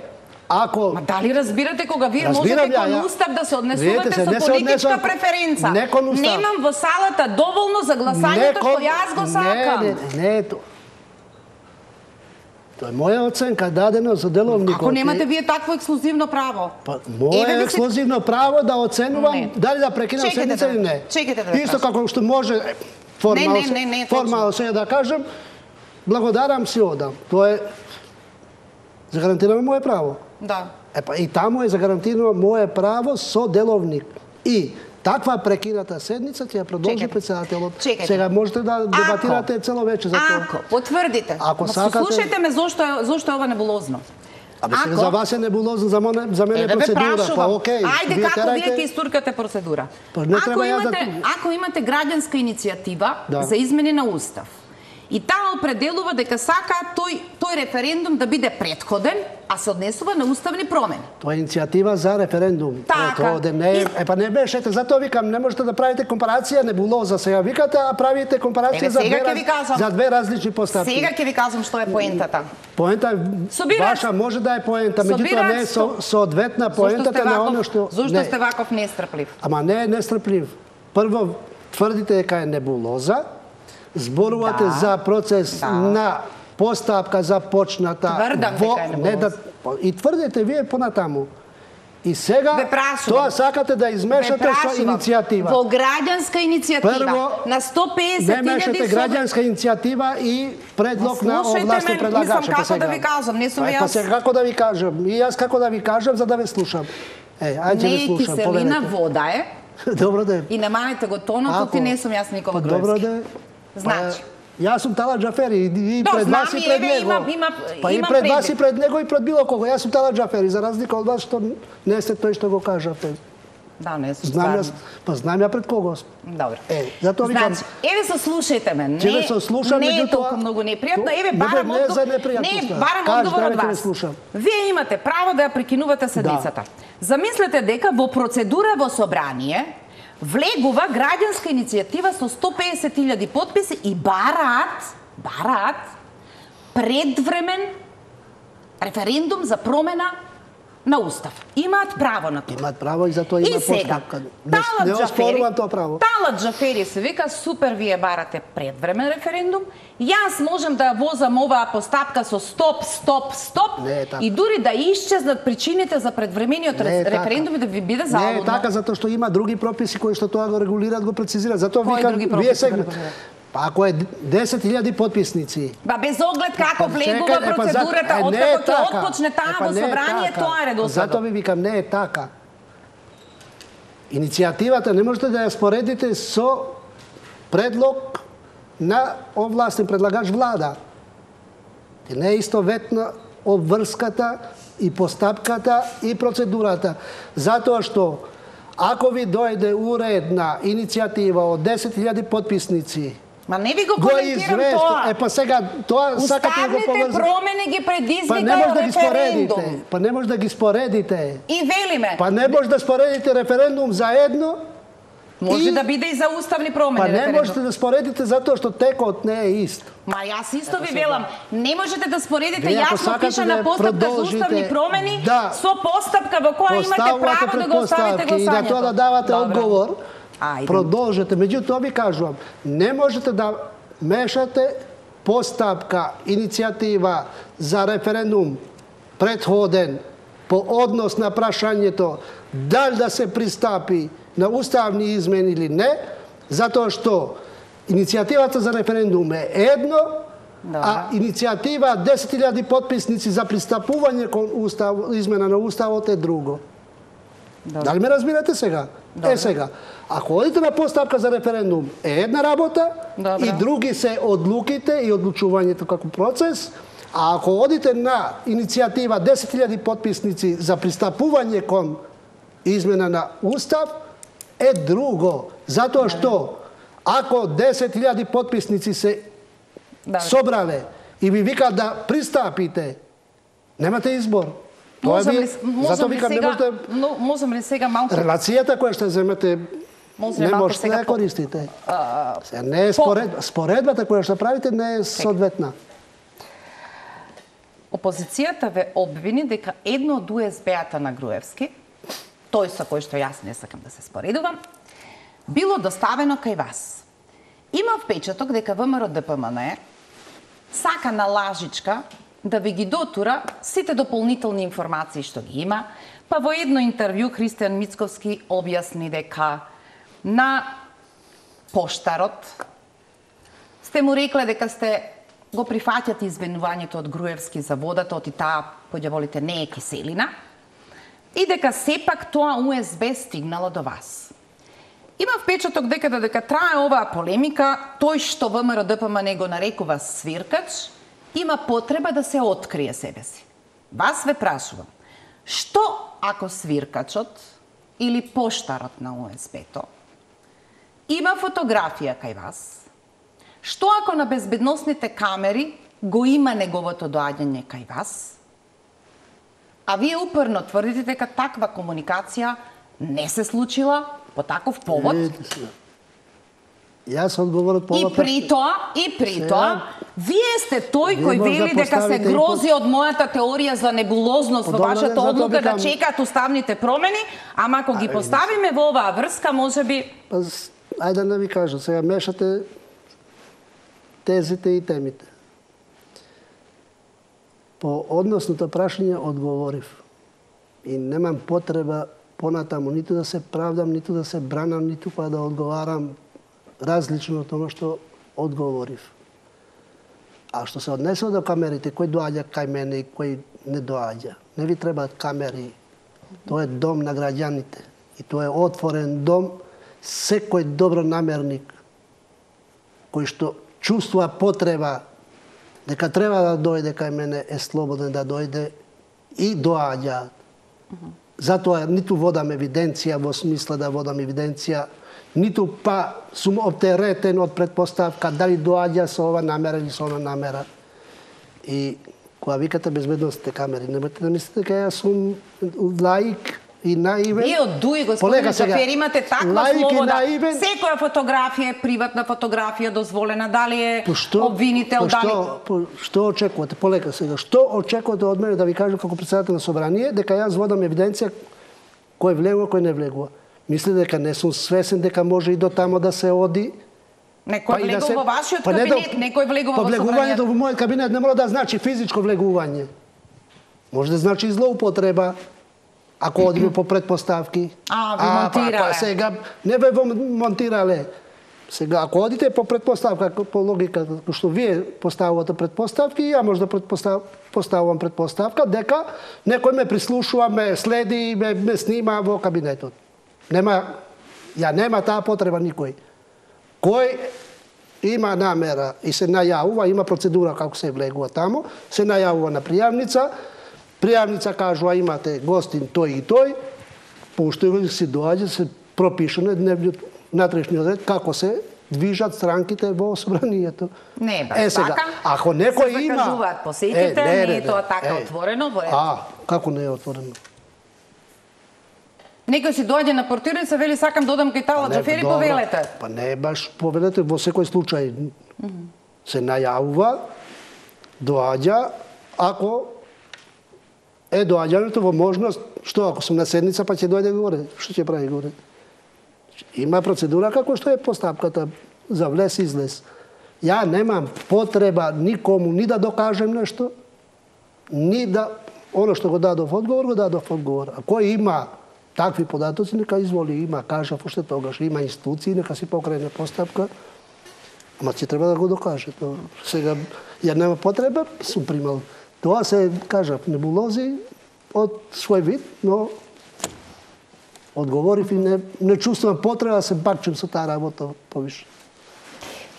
ако... Ма дали разбирате кога вие можете кон устав да се однесувате со политичка преференца? Немам во салата доволно за гласањето што јас го сакам. Не е тоа. Тоа е моја оценка дадено за деловникот. Ако немате вие такво ексклузивно право? Моје ексклузивно право да оценувам дали да прекинам седница или не. Исто како што може формално се да кажем, благодарам си одам. Тоа е загарантирано моје право. Да. И таму е загарантирано моје право со деловник. И таква прекината седница ќе ја продолжи председателот. Сега можете да дебатирате цело вече за тоа. Ако потврдите, слушајте ме зошто е ова небулозно. За вас е небулозно, за мене е процедура. Па окей. Ајде како вие ќе истуркате процедура. Ако имате граѓанска иницијатива за измени на устав, и таа определува дека сака тој референдум да биде претходен, а се однесува на уставни промени. Тоа е иницијатива за референдум. Така. Па не бешете, затоа викам, не можете да правите компарација небулоза. Сега викате, а правите компарација за две различни поставки. Сега ќе ви кажам што е поентата. Поента ваша може да е поента, меѓутоа не е соодветна поентата на оно што... Зошто сте ваков нестрплив? Ама не е нестрплив. Прво, тврдите дека е небулоза, зборувате за процес на постапка започната. Тврдам дека е небулоза. И тврдите вие понатаму. И сега тоа сакате да измешате со иницијатива. Во граѓанска иницијатива на 150.000 не мешате граѓанска иницијатива и предлог на овластен предлагач. Слушайте ме, мислам како да ви кажам, не сум јас. Па сега како да ви кажам, и јас како да ви кажам за да ве слушам. Ајде ви слушам, не, киселина вода е. Добро да е. И намалете го тонот, ти не сум јас Никола Груевски. Добро да е. Значи, јас сум Талат Џафери и пред вас и пред него. Па и пред вас и пред него и пред било кого. Јас сум Талат Џафери, за разлика од вас што не сте тој што го кажавте. Да, не сум стварно. Па знам ја пред кого сум. Добро. Затоа викам. Значи, еве се слушајте ме. Не е толку многу непријатно. Еве барам одговор од вас. Вие имате право да ја прекинувате седницата. Замислете дека во процедура во собрание влегува граѓанска иницијатива со 150.000 потписи и бараат предвремен референдум за промена на устав. Имаат право на тоа. Имаат право и за тоа има постапка. Не оспорувам тоа право. Талат Џафери се вика, супер, вие барате предвремен референдум. Јас можем да возам оваа постапка со стоп и дури да исчезнат причините за предвремениот референдум и да ви биде залудно. Не е така, затоа што има други прописи кои што тоа го регулираат, го прецизираат. Затоа викам, вие сега ако е 10.000 потписници. Без оглед како влегува процедурата, откако ќе отпочне таа во собрание, тоа е редосledно. Затоа ви викам, не е така. Иницијативата не можете да ја споредите со предлог на овластен предлагач влада. Не е истоветна обврската и постапката и процедурата. Затоа што ако ви дојде уредна иницијатива од 10.000 потписници, ма не ви го коментирам тоа. Па сега тоа сакате да го поврзате. Уставните промени ги предизвика референдум. Па не може да ги споредите. И велиме. Па не може да споредите референдум заедно. Може да биде и за уставни промени. Па не можете да споредите затоа што текот не е ист. Ма јас исто ви велам, не можете да споредите јасно пише на постапка за уставни промени со постапка во која имате право да го оставите гласањето. И на тоа да давате одговор. Продолжете. Меѓутоа ви кажувам, не можете да мешате постапка, иницијатива за референдум претходен по однос на прашањето дали да се пристапи на уставни измени или не, затоа што иницијативата за референдум е едно, а иницијатива 10.000 потписници за пристапување кон измена на уставот е друго. Дали ме разбирате сега? Сега, ако одите на поставка за референдум е една работа и други се одлуките и одлучувањето како процес, а ако одите на иницијатива 10.000 потписници за пристапување кон измена на Устав е друго. Затоа што ако 10.000 потписници се собрале и ви викаат да пристапите, немате избор. Можем ли сега малку... Релацијата која ще земете не можете да ја користите. Не е споредбата која ще правите не е соодветна. Опозицијата ве обвини дека едно од УСБ-ата на Груевски, тој со кој што јас не сакам да се споредувам, било доставено кај вас. Има впечаток дека ВМРО-ДПМН сака на лажичка да ви ги дотура сите дополнителни информации што ги има, па во едно интервју Христијан Мицковски објасни дека на поштарот сте му рекле дека сте го прифаќате извинувањето од Груевски за водата, оти таа, кој волите, не е киселина, и дека сепак тоа УСБ стигнало до вас. Има впечаток дека трае оваа полемика, тој што ВМРО-ДПМН го нарекува свиркач, има потреба да се открие себе си. Вас ве прашувам, што ако свиркачот или поштарот на УСБ-то има фотографија кај вас? Што ако на безбедносните камери го има неговото доаѓање кај вас? А вие упорно тврдите дека таква комуникација не се случила по таков повод? Јас одговорот по И при тоа, вие сте тој кој вели дека се грози од мојата теорија за небулозност во вашата одлука да чекаат уставните промени, ама ако ги поставиме во оваа врска, можеби... Ајде да ви кажам, сега мешате тезите и темите. По односното прашање одговорив. И немам потреба понатаму ниту да се правдам, ниту да се бранам, ниту па да одговарам различно од тоа што одговорив. А што се однесува до камерите, кој доаѓа кај мене и кој не доаѓа. Не ви требаат камери. Тоа е дом на граѓаните. И тоа е отворен дом. Секој добронамерник кој што чувствува потреба дека треба да дојде кај мене е слободен да дојде и доаѓа. Затоа ниту водам евиденција во смисла да водам евиденција, ниту па сум оптеретен од предпоставка дали доаѓа со ова намера или со она намера. И кога викате безбедносните камери, немате да мислите дека јас сум лаик и наивен. Вие од дуи, господин Джафер, имате таква слобода. Секоја фотографија е приватна фотографија, дозволена, дали е обвинител, дали... Што очекувате? Полека сега. Што очекувате од мене да ви кажам како председател на собрание, дека јас водам евиденција кој влегува, кој не влегува? Мисли дека не сум свесен дека може и до тамо да се оди? Некој влегува во вашиот кабинет, некој влегува во собранието. Влегувањето во мојот кабинет не мора да значи физичко влегување. Може да значи злоупотреба. Ако одиме по предпоставки. Ви монтирале. Сега не ве монтирале. Сега, ако одите по предпоставка, по логика, што вие поставувате предпоставки, ја може да поставувам предпоставка, дека некој ме прислушува, ме следи, ме снима во кабинетот. Нема таа потреба никој. Кој има намера и се најавува, има процедура како се влегува тамо, се најавува на пријавница, пријавница кажува имате гостин тој и тој, поштој си доаѓа, се пропишано дневниот натрешниот ред како се движат странките во собранието. Не е баш така. Ако некој се има... закажуваат посетите, не е тоа така отворено во ред. Како не е отворено? Некој си доаѓа на портирница, вели сакам додам кај Тала Джафери, повелете. Па не е баш повелете, во секој случај се најавува, доаѓа, ако е доаѓањето во можност, што ако сум на седница, па ќе дојде горе, што ќе прави горе? Има процедура како што е постапката за влез и излез. Ја немам потреба никому ни да докажем нешто, ни да оно што го дадов одговор, го дадов одговор. А кој има такви податоци, нека изволи, има, кажав уште тогаш, има институции, нека си покрене постапка, ама ќе треба да го докаже. Сега, ја нема потреба, сум примал. Тоа се, кажав, небулози од свој вид, но одговорив и не чувствувам потреба да се бакчам со таа работа повише.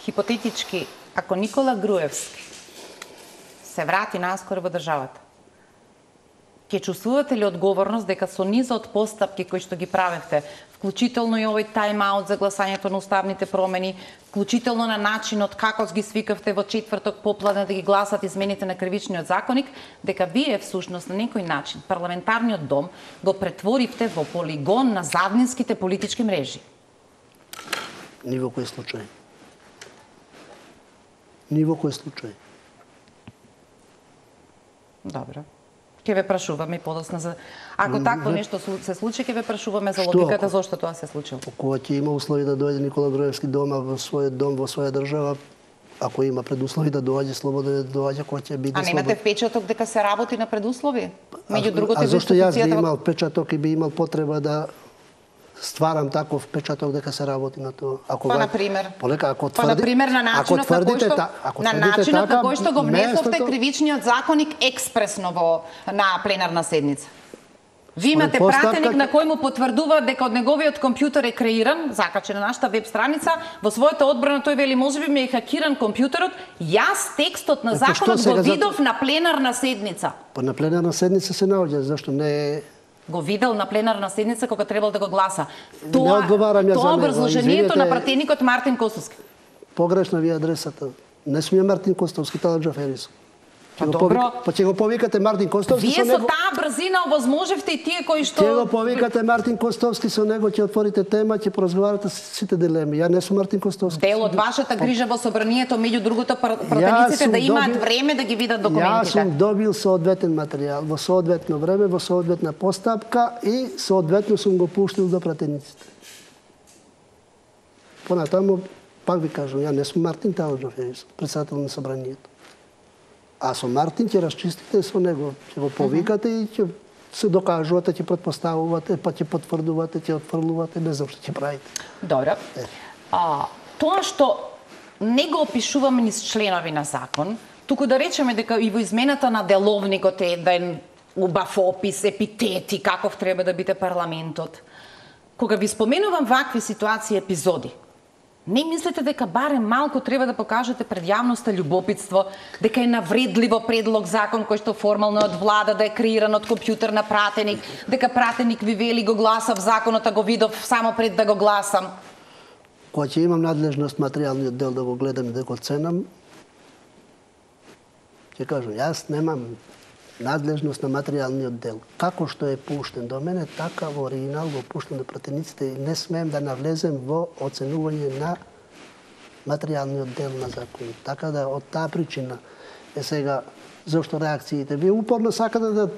Хипотетички, ако Никола Груевски се врати наскоро во државата, ќе чувствувате ли одговорност дека со низа од постапки кои што ги правевте, вклучително и овој тайм-аут за гласањето на уставните промени, вклучително на начинот како ги свикавте во четврток попладне да ги гласат измените на кривичниот законник, дека вие всушност на некој начин парламентарниот дом го претворивте во полигон на заднинските политички мрежи? Ни во кој случај. Ни во кој случај. Добро. Ќе ве прашуваме и подосна за... Ако такво нешто се случи, ќе ве прашуваме за логиката зошто тоа се случило. Кога ќе има услови да дојде Никола Груевски дома во својот дом, во своја држава, ако има предуслови да доаѓа, слободно да доаѓа, кој ќе биде слободен. А немате впечаток дека се работи на предуслови? Меѓу другото, а зошто јас би имал впечаток и би имал потреба да стварам таков впечаток дека се работи на тоа? Па, например? Па, например, на начинот на кој што го внесовте кривичниот законник експресно на пленарна седница. Ви имате пратеник на кој му потврдува дека од неговиот компјутер е креиран, закачен на нашата веб страница, во својата одбрана тој вели можеби ми е хакиран компјутерот, јас текстот на законот го видов на пленарна седница. Па на пленарна седница се наоѓа, зашто не е... Го видел на пленарна седница кога требал да го гласа. Не одговарам ја за него. Тоа образложението на пратеникот Мартин Костовски. Погрешна ви адресата. Не сум ја Мартин Костовски, Талат Джаферис. Па добро. Па ќе го повикате Мартин Костовски со него. Вие со таа брзина овозможевте и тие кои што... Ќе го повикате Мартин Костовски со него, ќе отворите тема, ќе поразговарате сите дилеми. Ја не сум Мартин Костовски. Дел од вашата грижа во собранието, меѓу другото, пратениците да имаат време да ги видат документите. Јас сум добил соодветен материјал во соодветно време, во соодветна постапка и соодветно сум го пуштил до пратениците. Понатаму, пак ви кажам, ја не сум Мартин Таладжов, председател на собранието. А со Мартин ќе расчистите со него, ќе го повикате и ќе се докажувате, ќе претпоставувате, па ќе потврдувате, ќе отфрлувате, не знам што ќе правите. Добро. Тоа што не го опишуваме низ членови на закон, туку да речеме дека и во измената на деловникот е еден убав опис, епитети, каков треба да биде парламентот. Кога ви споменувам вакви ситуации, епизоди, не мислите дека барем малку треба да покажете пред јавноста љубопитство, дека е навредливо предлог закон кој што формално од влада да е креиран од компјутер на пратеник, дека пратеник ви вели го гласав законот, а го видов само пред да го гласам? Кога ќе имам надлежност материјалниот дел да го гледам и да го ценам, ќе кажам, јас немам надлежност на материјалниот дел. Како што е пуштен до мене, така во оригинал го пуштен до пратениците и не смеем да навлезем во оценување на материјалниот дел на закон. Така да од таа причина е сега зашто реакциите. Вие упорно сакате да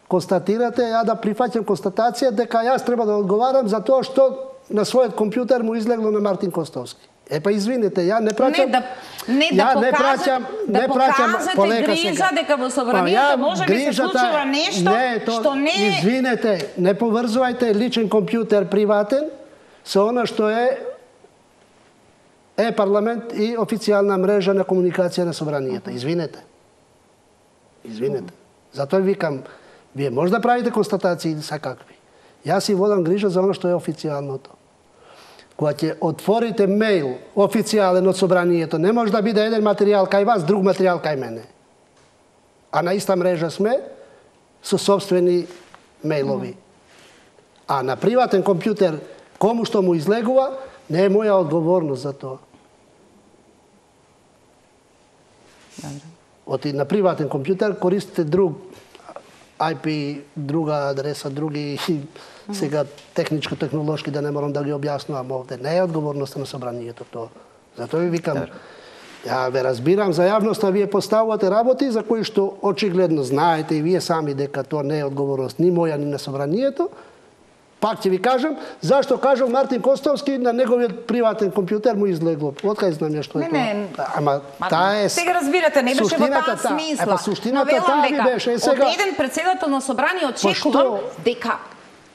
констатирате, ја да прифаќам констатација дека јас треба да одговарам за тоа што на својот компјутер му излегло на Мартин Костовски. Па извинете, ја не праќам... Не покажете грижа дека во собранието може би се случува нешто што не... Извинете, не поврзувајте личен компјутер приватен со она што е парламент и официјална мрежа на комуникација на собранието. Извинете. Извинете. Затоа викам, вие може да правите констатации сакакви. Јас си водам грижа за она што е официјалното. Кога ќе отворите мејл официјален од собранието, не може да биде еден материјал кај вас, друг материјал кај мене. А на иста мрежа сме со собствени мејлови. А на приватен компјутер, кому што му излегува, не е моја одговорност за тоа. На приватен компјутер користите друг IP, друга адреса, други сега техничко-технолошки да не морам да ги објаснувам овде. Не е одговорноста на собранието тоа. Затоа ви викам, ја ве разбирам за јавноста, вие поставувате работи за кои што очигледно знаете и вие сами дека тоа не е одговорност ни моја ни на собранието. Пак ќе ви кажам, зашто кажал Мартин Костовски на неговиот приватен компјутер му излегло. Откај знам ја што е тоа? Ама таа е... Сега разбирате, не беше во таа смисла. Суштината таа ви беше. Од еден председател на собрание очекувам дека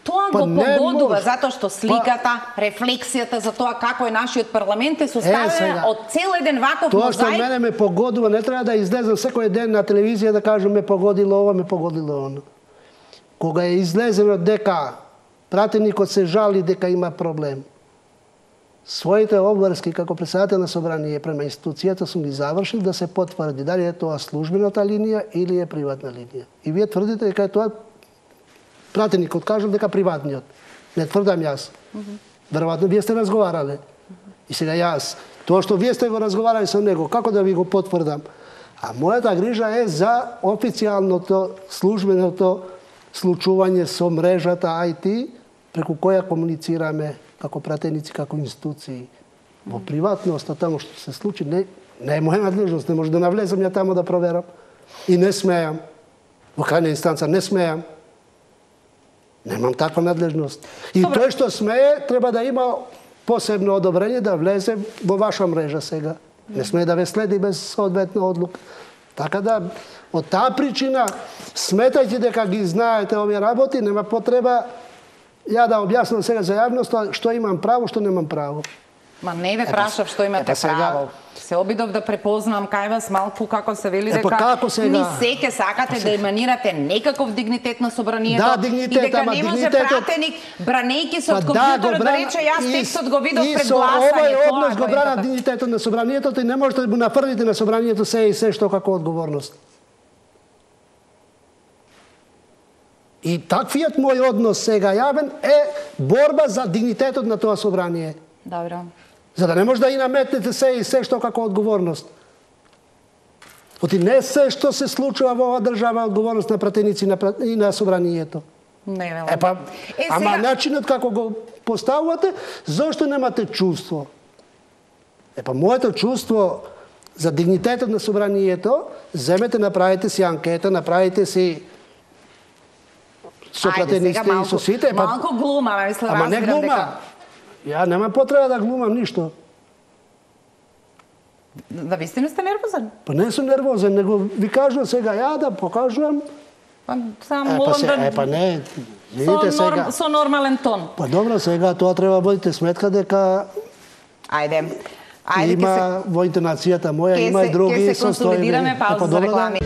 тоа го погодува, затоа што сликата, рефлексијата за тоа како е нашиот парламент е составена од цел еден ваков мозаик. Тоа што мене ме погодува, не треба да излезам секој ден на телевизија да кажам ме погодило ова, ме погодило оно. Кога е излезено дека пратеникот се жали дека има проблем. Своите обврски како председател на собрание према институцијата сум ги завршил да се потврди дали е тоа службената линија или е приватна линија. И вие тврдите дека е тоа пратеникот кажал дека приватниот. Не тврдам јас. Веројатно вие сте разговарале. И сега јас, тоа што вие сте го разговарали со него, како да ви го потврдам? А мојата грижа е за официјалното, службеното случување со мрежата IT, преку која комуницираме како пратеници, како институции. Во приватност, таму што се случи, не е моја надлежност, не може да навлезам ја таму да проверам. И не смеам. Во крајна инстанца не смеам. Немам таква надлежност. И тој што смее, треба да има посебно одобрение да влезе во ваша мрежа сега. Не смее да ве следи без соодветна одлука. Така да, од таа причина, сметајте дека ги знаете овие работи, нема потреба ја да објаснам сега за јавноста што имам право, што немам право. Ма не ве прашав што имате право. Се обидов да препознам кај вас малку како се вели дека ни секе сакате да еманирате некаков дигнитет на собранието и дека не може пратеник бранејќи се од компјутерот да рече јас текстот го видов пред гласање. Овој однос го брана дигнитетот на собранието и не можете да му нафрлите на собранието се и се што како одговорност. И таквиот мој однос сега јавен е борба за дигнитетот на тоа собрание. Добро. За да не може да и наметнете се и се што како одговорност. Оти не се што се случува во оваа држава одговорност на пратеници и на собранието. Не, велам. Ама начинот како го поставувате, зошто немате чувство? Моето чувство за дигнитетот на собранието, земете, направите си анкета, направите си со пратениците и со сите. Малку глума, мислам, ама не глума. Ја немам потреба да глумам ништо. Да вистина сте нервозен? Па не сум нервозен, него ви кажувам сега ја да покажувам. Само молам да... не, видите сега. Со нормален тон. Па добро, сега тоа треба водите сметка дека... Ајде. Има во интонацијата моја, има и други состојби. Ке се консолидираме, пауза за реклами.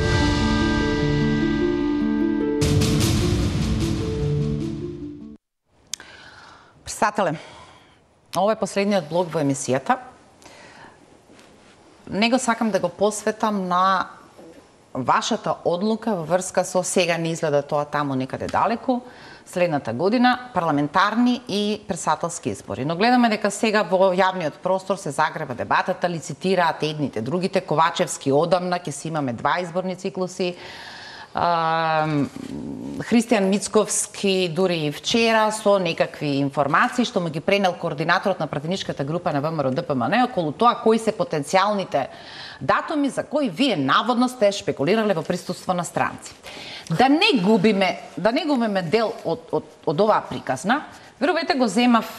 Председателе, ова е последниот блок во емисијата. Него сакам да го посветам на вашата одлука во врска со сега не изгледа тоа таму некаде далеку, следната година, парламентарни и председателски избори. Но гледаме дека сега во јавниот простор се загрева дебатата, лицитираат едните, другите, Ковачевски одамна, ќе си имаме 2 изборни циклуси, Христијан Мицковски дури и вчера со некакви информации што му ги пренел координаторот на пратеничката група на ВМРО ДПМН околу тоа кои се потенцијалните датуми за кои вие наводно сте шпекулирале во присуство на странци. Да не губиме дел од оваа приказна, верувате го земав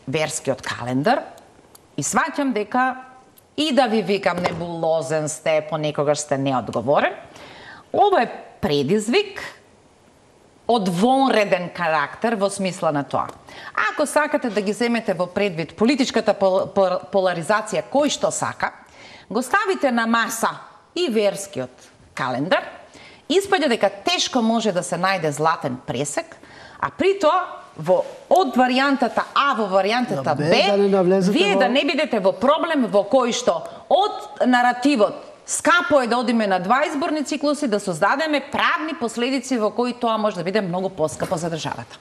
верскиот календар и сваќам дека и да ви викам небулозен сте, понекогаш сте неодговорен, ова е предизвик од вонреден карактер во смисла на тоа. Ако сакате да ги земете во предвид политичката поларизација кој што сака, го ставите на маса и верскиот календар, испаѓа дека тешко може да се најде златен пресек, а при тоа од варијантата А во варијантата Б, вие да не бидете во проблем во кој што од наративот скапо е да одиме на 2 изборни циклуси, да создадеме правни последици во кои тоа може да биде многу поскапо за државата.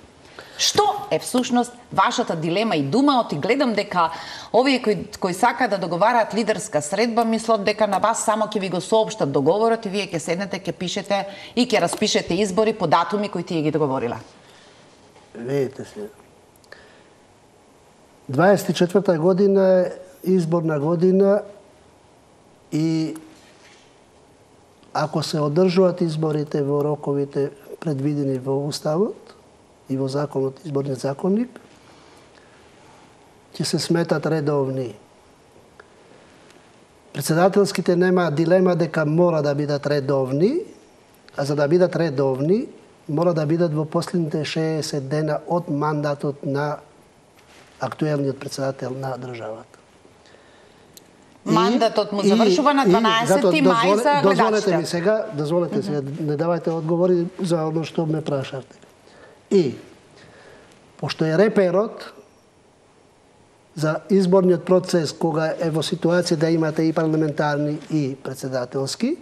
Што е всушност вашата дилема и дума? Оти гледам дека овие кои сака да договараат лидерска средба, мислат дека на вас само ќе ви го соопштат договорот и вие ќе седнете, ќе пишете и ќе распишете избори по датуми кои тие ги договорила. Видите се. 24-та година е изборна година и ако се одржуваат изборите во роковите предвидени во Уставот и во законот, изборниот законник, ќе се сметат редовни. Председателските нема дилема дека мора да бидат редовни, а за да бидат редовни, мора да бидат во последните 60 дена од мандатот на актуелниот председател на државата. Мандатот му завршува на 12 мај за гледачите. Дозволете сега, не давајте одговори за оно што ме прашавте. И пошто е реперот за изборниот процес кога е во ситуација да имате и парламентарни и председателски,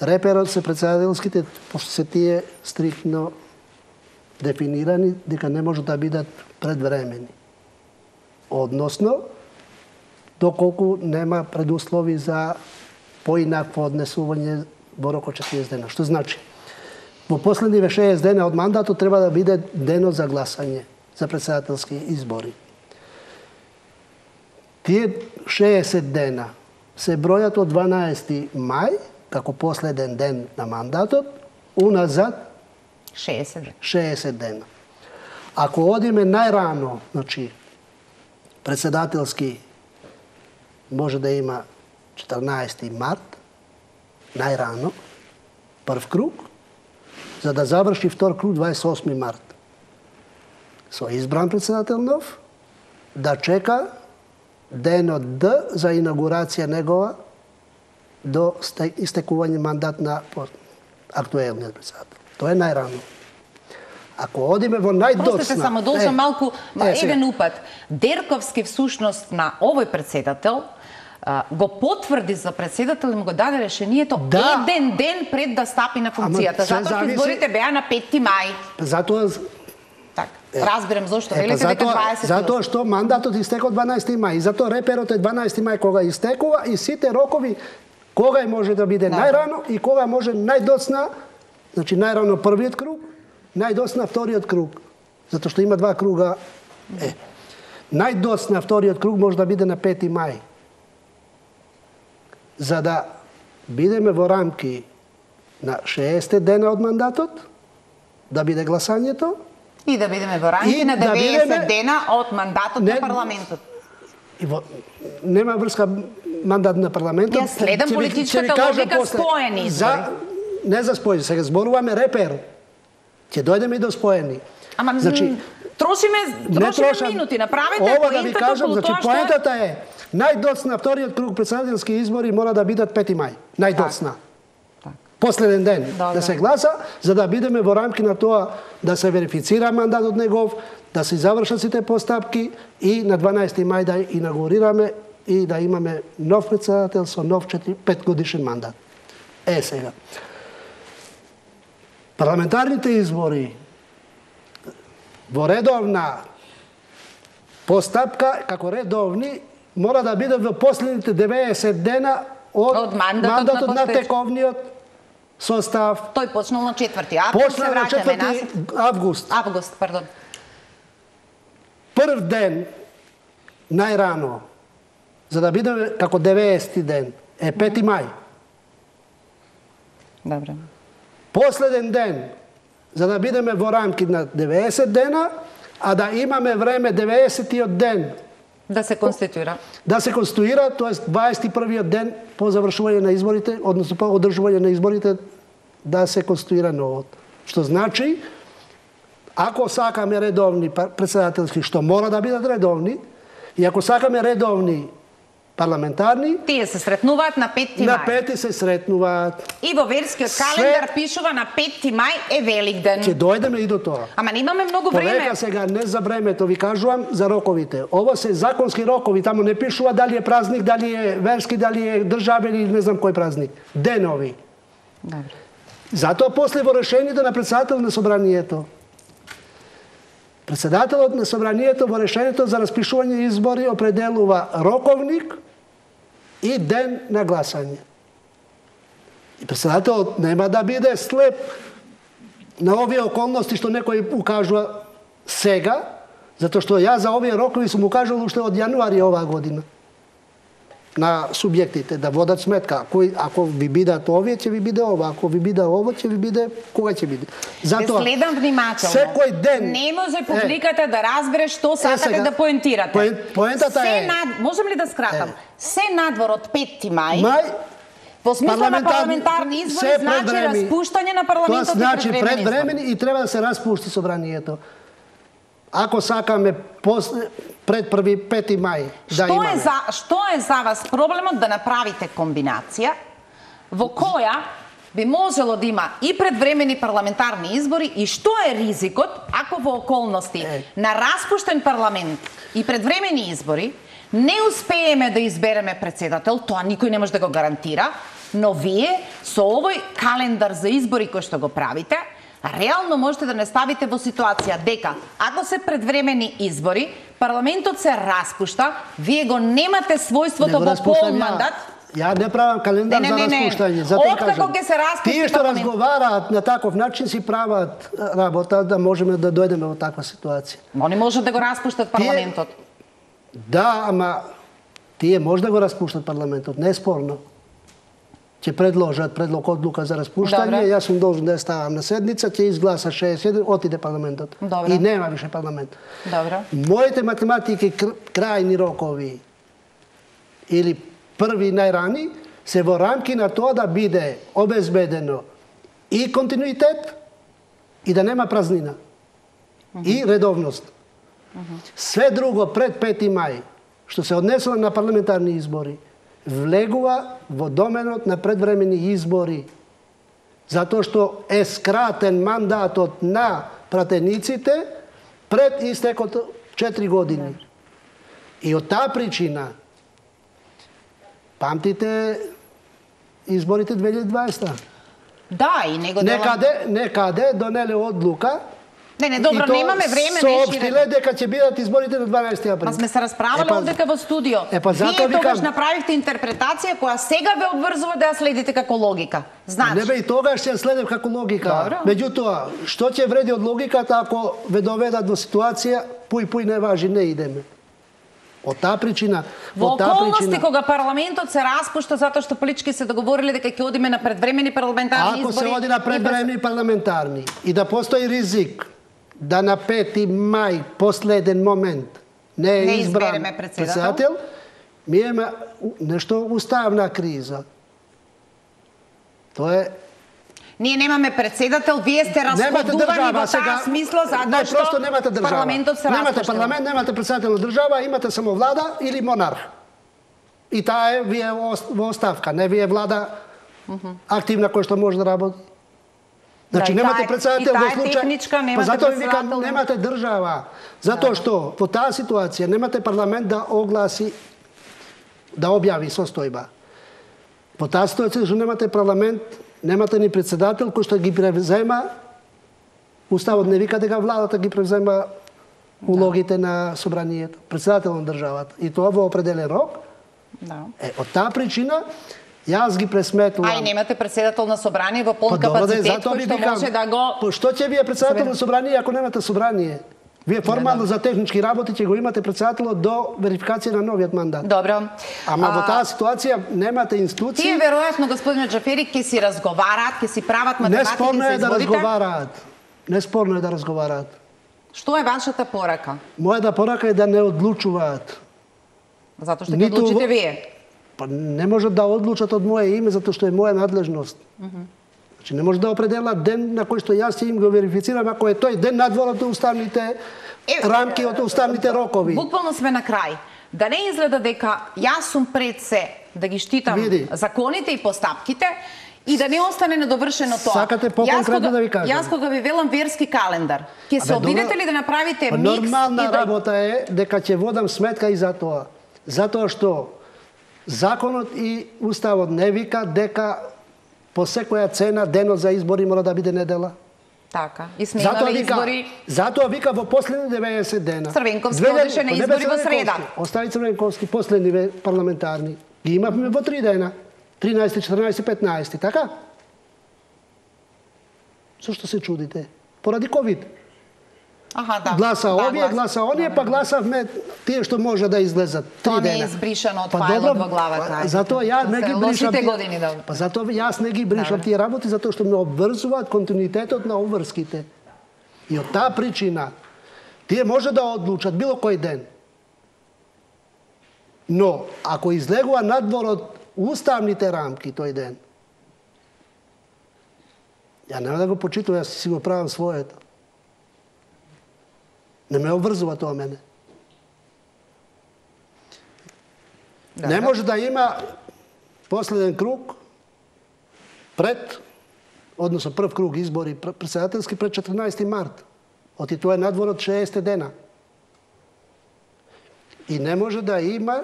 реперот се председателските, пошто се тие стриктно дефинирани дека не може да бидат предвремени. Односно, доколку нема предуслови за поинакво однесување во рок од 40 дена. Што значи? Во последниве 60 дена од мандатот треба да биде денот за гласање за председателски избори. Тие 60 дена се бројат од 12 мај, како последен ден на мандатот, уназад 60 дена. Ако одиме најрано, значи, председателски може да има 14 март, најрано, прв круг, за да заврши втор круг 28 март. Со избран председател нов, да чека денот Д за инаугурација негова до истекување мандат на актуелниот председател. Тоа е најрано. Ако одиме во најдоцна... Простите, само должам малку, еден упат. Дерковски всушност на овој председател го потврди за председател и му го даде решението еден ден пред да стапи на функцијата. Затоа што изборите беа на 5 мај. Затоа... Разбирам зошто велите дека 20. Затоа што мандатот истекува 12 мај. И затоа реперот е 12 мај кога истекува и сите рокови кога може да биде најрано и кога може најдоцна, значи најрано првиот круг, најдоцна вториот круг. Затоа што има два круга. Најдоцна вториот круг може да биде на 5 мај. За да бидеме во рамки на 60 дена од мандатот, да биде гласањето, и да бидеме во рамки на 90 дена од мандатот на парламентот. Нема врска мандат на парламентот. Ја следам политичката логика споени избори. Не за споени, сега зборуваме репер. Ќе дојдеме и до споени. Ама трошиме минути, направете поентата околу тоа што... Поентата е, најдоцна вториот круг председателски избори мора да бидат 5 мај. Најдоцна. Последен ден да се гласа, за да бидеме во рамки на тоа да се верифицира мандатот негов, да се завршат сите постапки и на 12 мај да инаугурираме и да имаме нов председател со нов 5 годишен мандат. Сега. Парламентарните избори во редовна постапка, како редовни, мора да бидат во последните 90 дена од мандатот на тековниот состав. Тој почнал на 4 април, се враќаме на 4 август. Август, пардон. Прв ден, најрано, за да бидеме како 90 ден, е 5 мај. Добре. Последен ден, за да бидеме во рамки на 90 дена, а да имаме време 90-тиот ден да се конституира. Да се конституира, тоа е 21-иот ден по завршување на изборите, односно по одржување на изборите, да се конституира новот. Што значи, ако сакаме редовни председателски, што мора да бидат редовни, и ако сакаме редовни парламентарни... Тие се сретнуваат на 5 мај. На 5 се сретнуваат. И во верскиот календар пишува на 5 мај е Великден. Ќе дојдеме и до тоа. Ама немаме многу време. Повека сега, не за времето, ви кажувам за роковите. Ово се законски рокови, тамо не пишува дали е празник, дали е верски, дали е државен или не знам кој празник. Денови. Добре. Затоа после во решението на председател на собранието, председателот на собранието во решението за распишување избори определува роковник и ден на гласање. И председателот нема да биде слеп на овие околности што некој укажува сега, затоа што ја за овие рокови сум укажал уште од јануари оваа година на субјектите да водат сметка. Ако ви бидат овие, ќе ви биде ова. Ако ви биде ово, ќе ви биде кога ќе биде. Затоа следам внимателно. Секој ден не може публиката да разбере што сакате да поентирате. Поентата е. Можем ли да скратам? Се надвор од 5 мај. Во смисла на парламентарни избори значи распуштање на парламентот. Тоа значи предвремени и треба да се распушти собранието. Ако сакаме пред 5 мај да имаме. Што е за вас проблемот да направите комбинација во која би можело да има и предвремени парламентарни избори и што е ризикот ако во околности на распуштен парламент и предвремени избори не успееме да избереме председател, тоа никој не може да го гарантира, но вие со овој календар за избори кој што го правите, реално можете да не ставите во ситуација дека ако се предвремени избори, парламентот се распушта, вие го немате својството во пол мандат. Ја не правам календар за распуштање, затоа кажам. Тие што разговараат на таков начин си прават работа да можеме да дојдеме во таква ситуација. Они можат да го распуштат парламентот. Да, ама тие може да го распуштат парламентот, не е спорно. Ќе предложат предлог одлука за распуштање, јас сум должен да ја ставам на седница, ќе изгласа 61, отиде парламентот. Добре. И нема више парламент. Добре. Моите математики крајни рокови или први најрани се во рамки на тоа да биде обезбедено и континуитет и да нема празнина. И редовност. Све друго пред 5 мај, што се однесува на парламентарни избори, влегува во доменот на предвремени избори, затоа што е скратен мандатот на пратениците пред истекот 4 години. И од таа причина, памтите изборите 2020. Да, и него Некаде донеле одлука. Не, добро, немаме време, соопштиле дека ќе бидат изборите на 12 април. Па сме се расправале овдека во студио. Вие тогаш направивте интерпретација која сега ве обврзува да ја следите како логика. Значи, не бе, и тогаш ќе следев како логика. Меѓутоа, што ќе вреди од логиката ако ве доведат во ситуација пуј не важи, не идеме. Од таа причина, во околности кога парламентот се распушта затоа што политички се договориле дека ќе одиме на предвремени парламентарни избори. Ако се оди на предвремени парламентарни и да постои ризик да на 5 мај последен момент не е избран председател, ми има нешто уставна криза. Тоа е. Ние немаме председател, вие сте расходувани во таа смисла затоа што парламентот се распушта. Немате парламент, немате председател на држава, имате само влада или монарх. И таа е вие во оставка, не вие влада активна која што може да работи. Значи немате председател во случај. Па затоа викам немате држава, затоа што во таа ситуација немате парламент да огласи, да објави состојба. Во таа ситуација што немате парламент, немате ни председател кој што ги превзема, уставот не вика дека владата ги превзема улогите на собранието, председател на државата. И тоа во определен рок. Од таа причина јас ги пресметувам. Ај немате председател на собрание во пол капацитет кој што може да го. Па што ќе вие председател на собрание ако немате собрание? Вие формално за технички работи ќе го имате председателот до верификација на новиот мандат. Добро. Ама во таа ситуација немате институции. Тие веројатно господине Џафери ќе си разговараат, ќе си прават математики за изборите. Неспорно е да разговараат. Неспорно е да разговараат. Што е вашата порака? Мојата порака е да не одлучуваат. Затоа што ќе одлучите вие. Па не можат да одлучат од моје име затоа што е моја надлежност. Значи не може да определат ден на кој што јас ќе им го верифицирам ако е тој ден надвор од уставните рамки, од уставните рокови. Буквално сме на крај. Да не изгледа дека јас сум пред се да ги штитам законите и постапките и да не остане недовршено тоа. Сакате поконкретно да ви кажам. Јас кога ви велам верски календар, ќе се обидете ли да направите микс? Нормална работа е дека ќе водам сметка и за тоа. Затоа што законот и уставот не вика дека по секоја цена денот за избори мора да биде недела. Така. И сме имали избори. Затоа вика во последни 90 дена. Црвенковски одеше на избори во среда. Остави Црвенковски последни парламентарни. Ги имавме во 3 дена. 13, 14, 15, така? Зошто се чудите? Поради ковид. Аха, да. Гласа овие, гласа оние, па гласавме тие што може да излезат 3 дена. Тоа не е избришано од фајлот во главата. Затоа ја не ги бришам. Па затоа јас не ги бришам тие работи затоа што ме обврзуваат континуитетот на обврските. И од таа причина тие може да одлучат било кој ден. Но ако излегува надвор од уставните рамки тој ден, ја нема да го почитувам, јас си го правам своето. Не ме обврзува тоа мене. Не може да има последен круг пред односно прв круг избори председателски пред 14 март. Оти тоа е надвор од 60 дена. И не може да има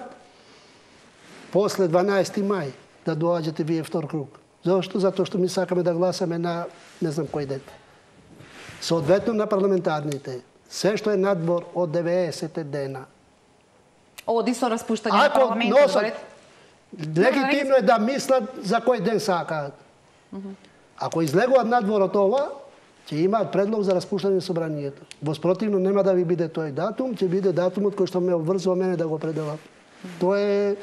после 12 мај да доаѓате вие втор круг. Зошто? Затоа што ми сакаме да гласаме на не знам кој ден. Соодветно на парламентарните. Се што е надвор од 90 дена. Оди со распуштање на парламентот. Легитимно е да мислат за кој ден сакаат. Ако излегуваат надвор од ова, ќе имаат предлог за распуштање на собранието. Воспротивно нема да ви биде тој датум, ќе биде датумот кој што ме обврзува мене да го определам. Тоа е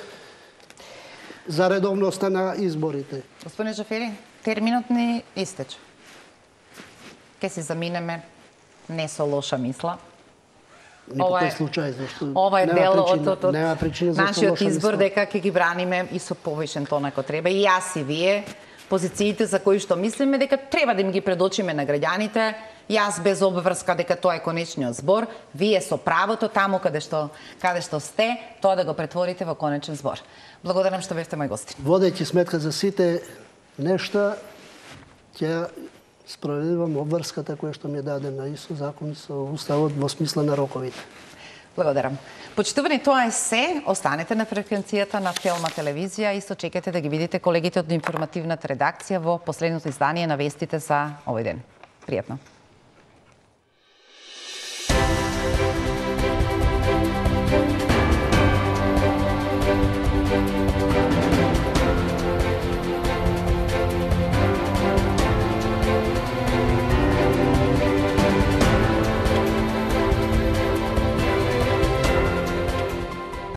за редовноста на изборите. Господине Џафери, терминот ни истече. Ке си заминеме не со лоша мисла. Ни по тој случај, зашто ова е дел од нашиот избор дека ќе ги браниме и со повишен тон ако треба. И јас и вие, позициите за кои што мислиме дека треба да им ги предочиме на граѓаните, јас без обврска дека тоа е конечниот збор, вие со правото таму каде што сте, тоа да го претворите во конечен збор. Благодарам што бевте мој гостин. Водејќи сметка за сите нешта, ќе спроведувам обврската која што ми е дадена и со закон, и со уставот во смисла на роковите. Благодарам. Почитувани, тоа е се. Останете на фреквенцијата на Телма телевизија и се чекате да ги видите колегите од информативната редакција во последното издание на вестите за овој ден. Пријатно.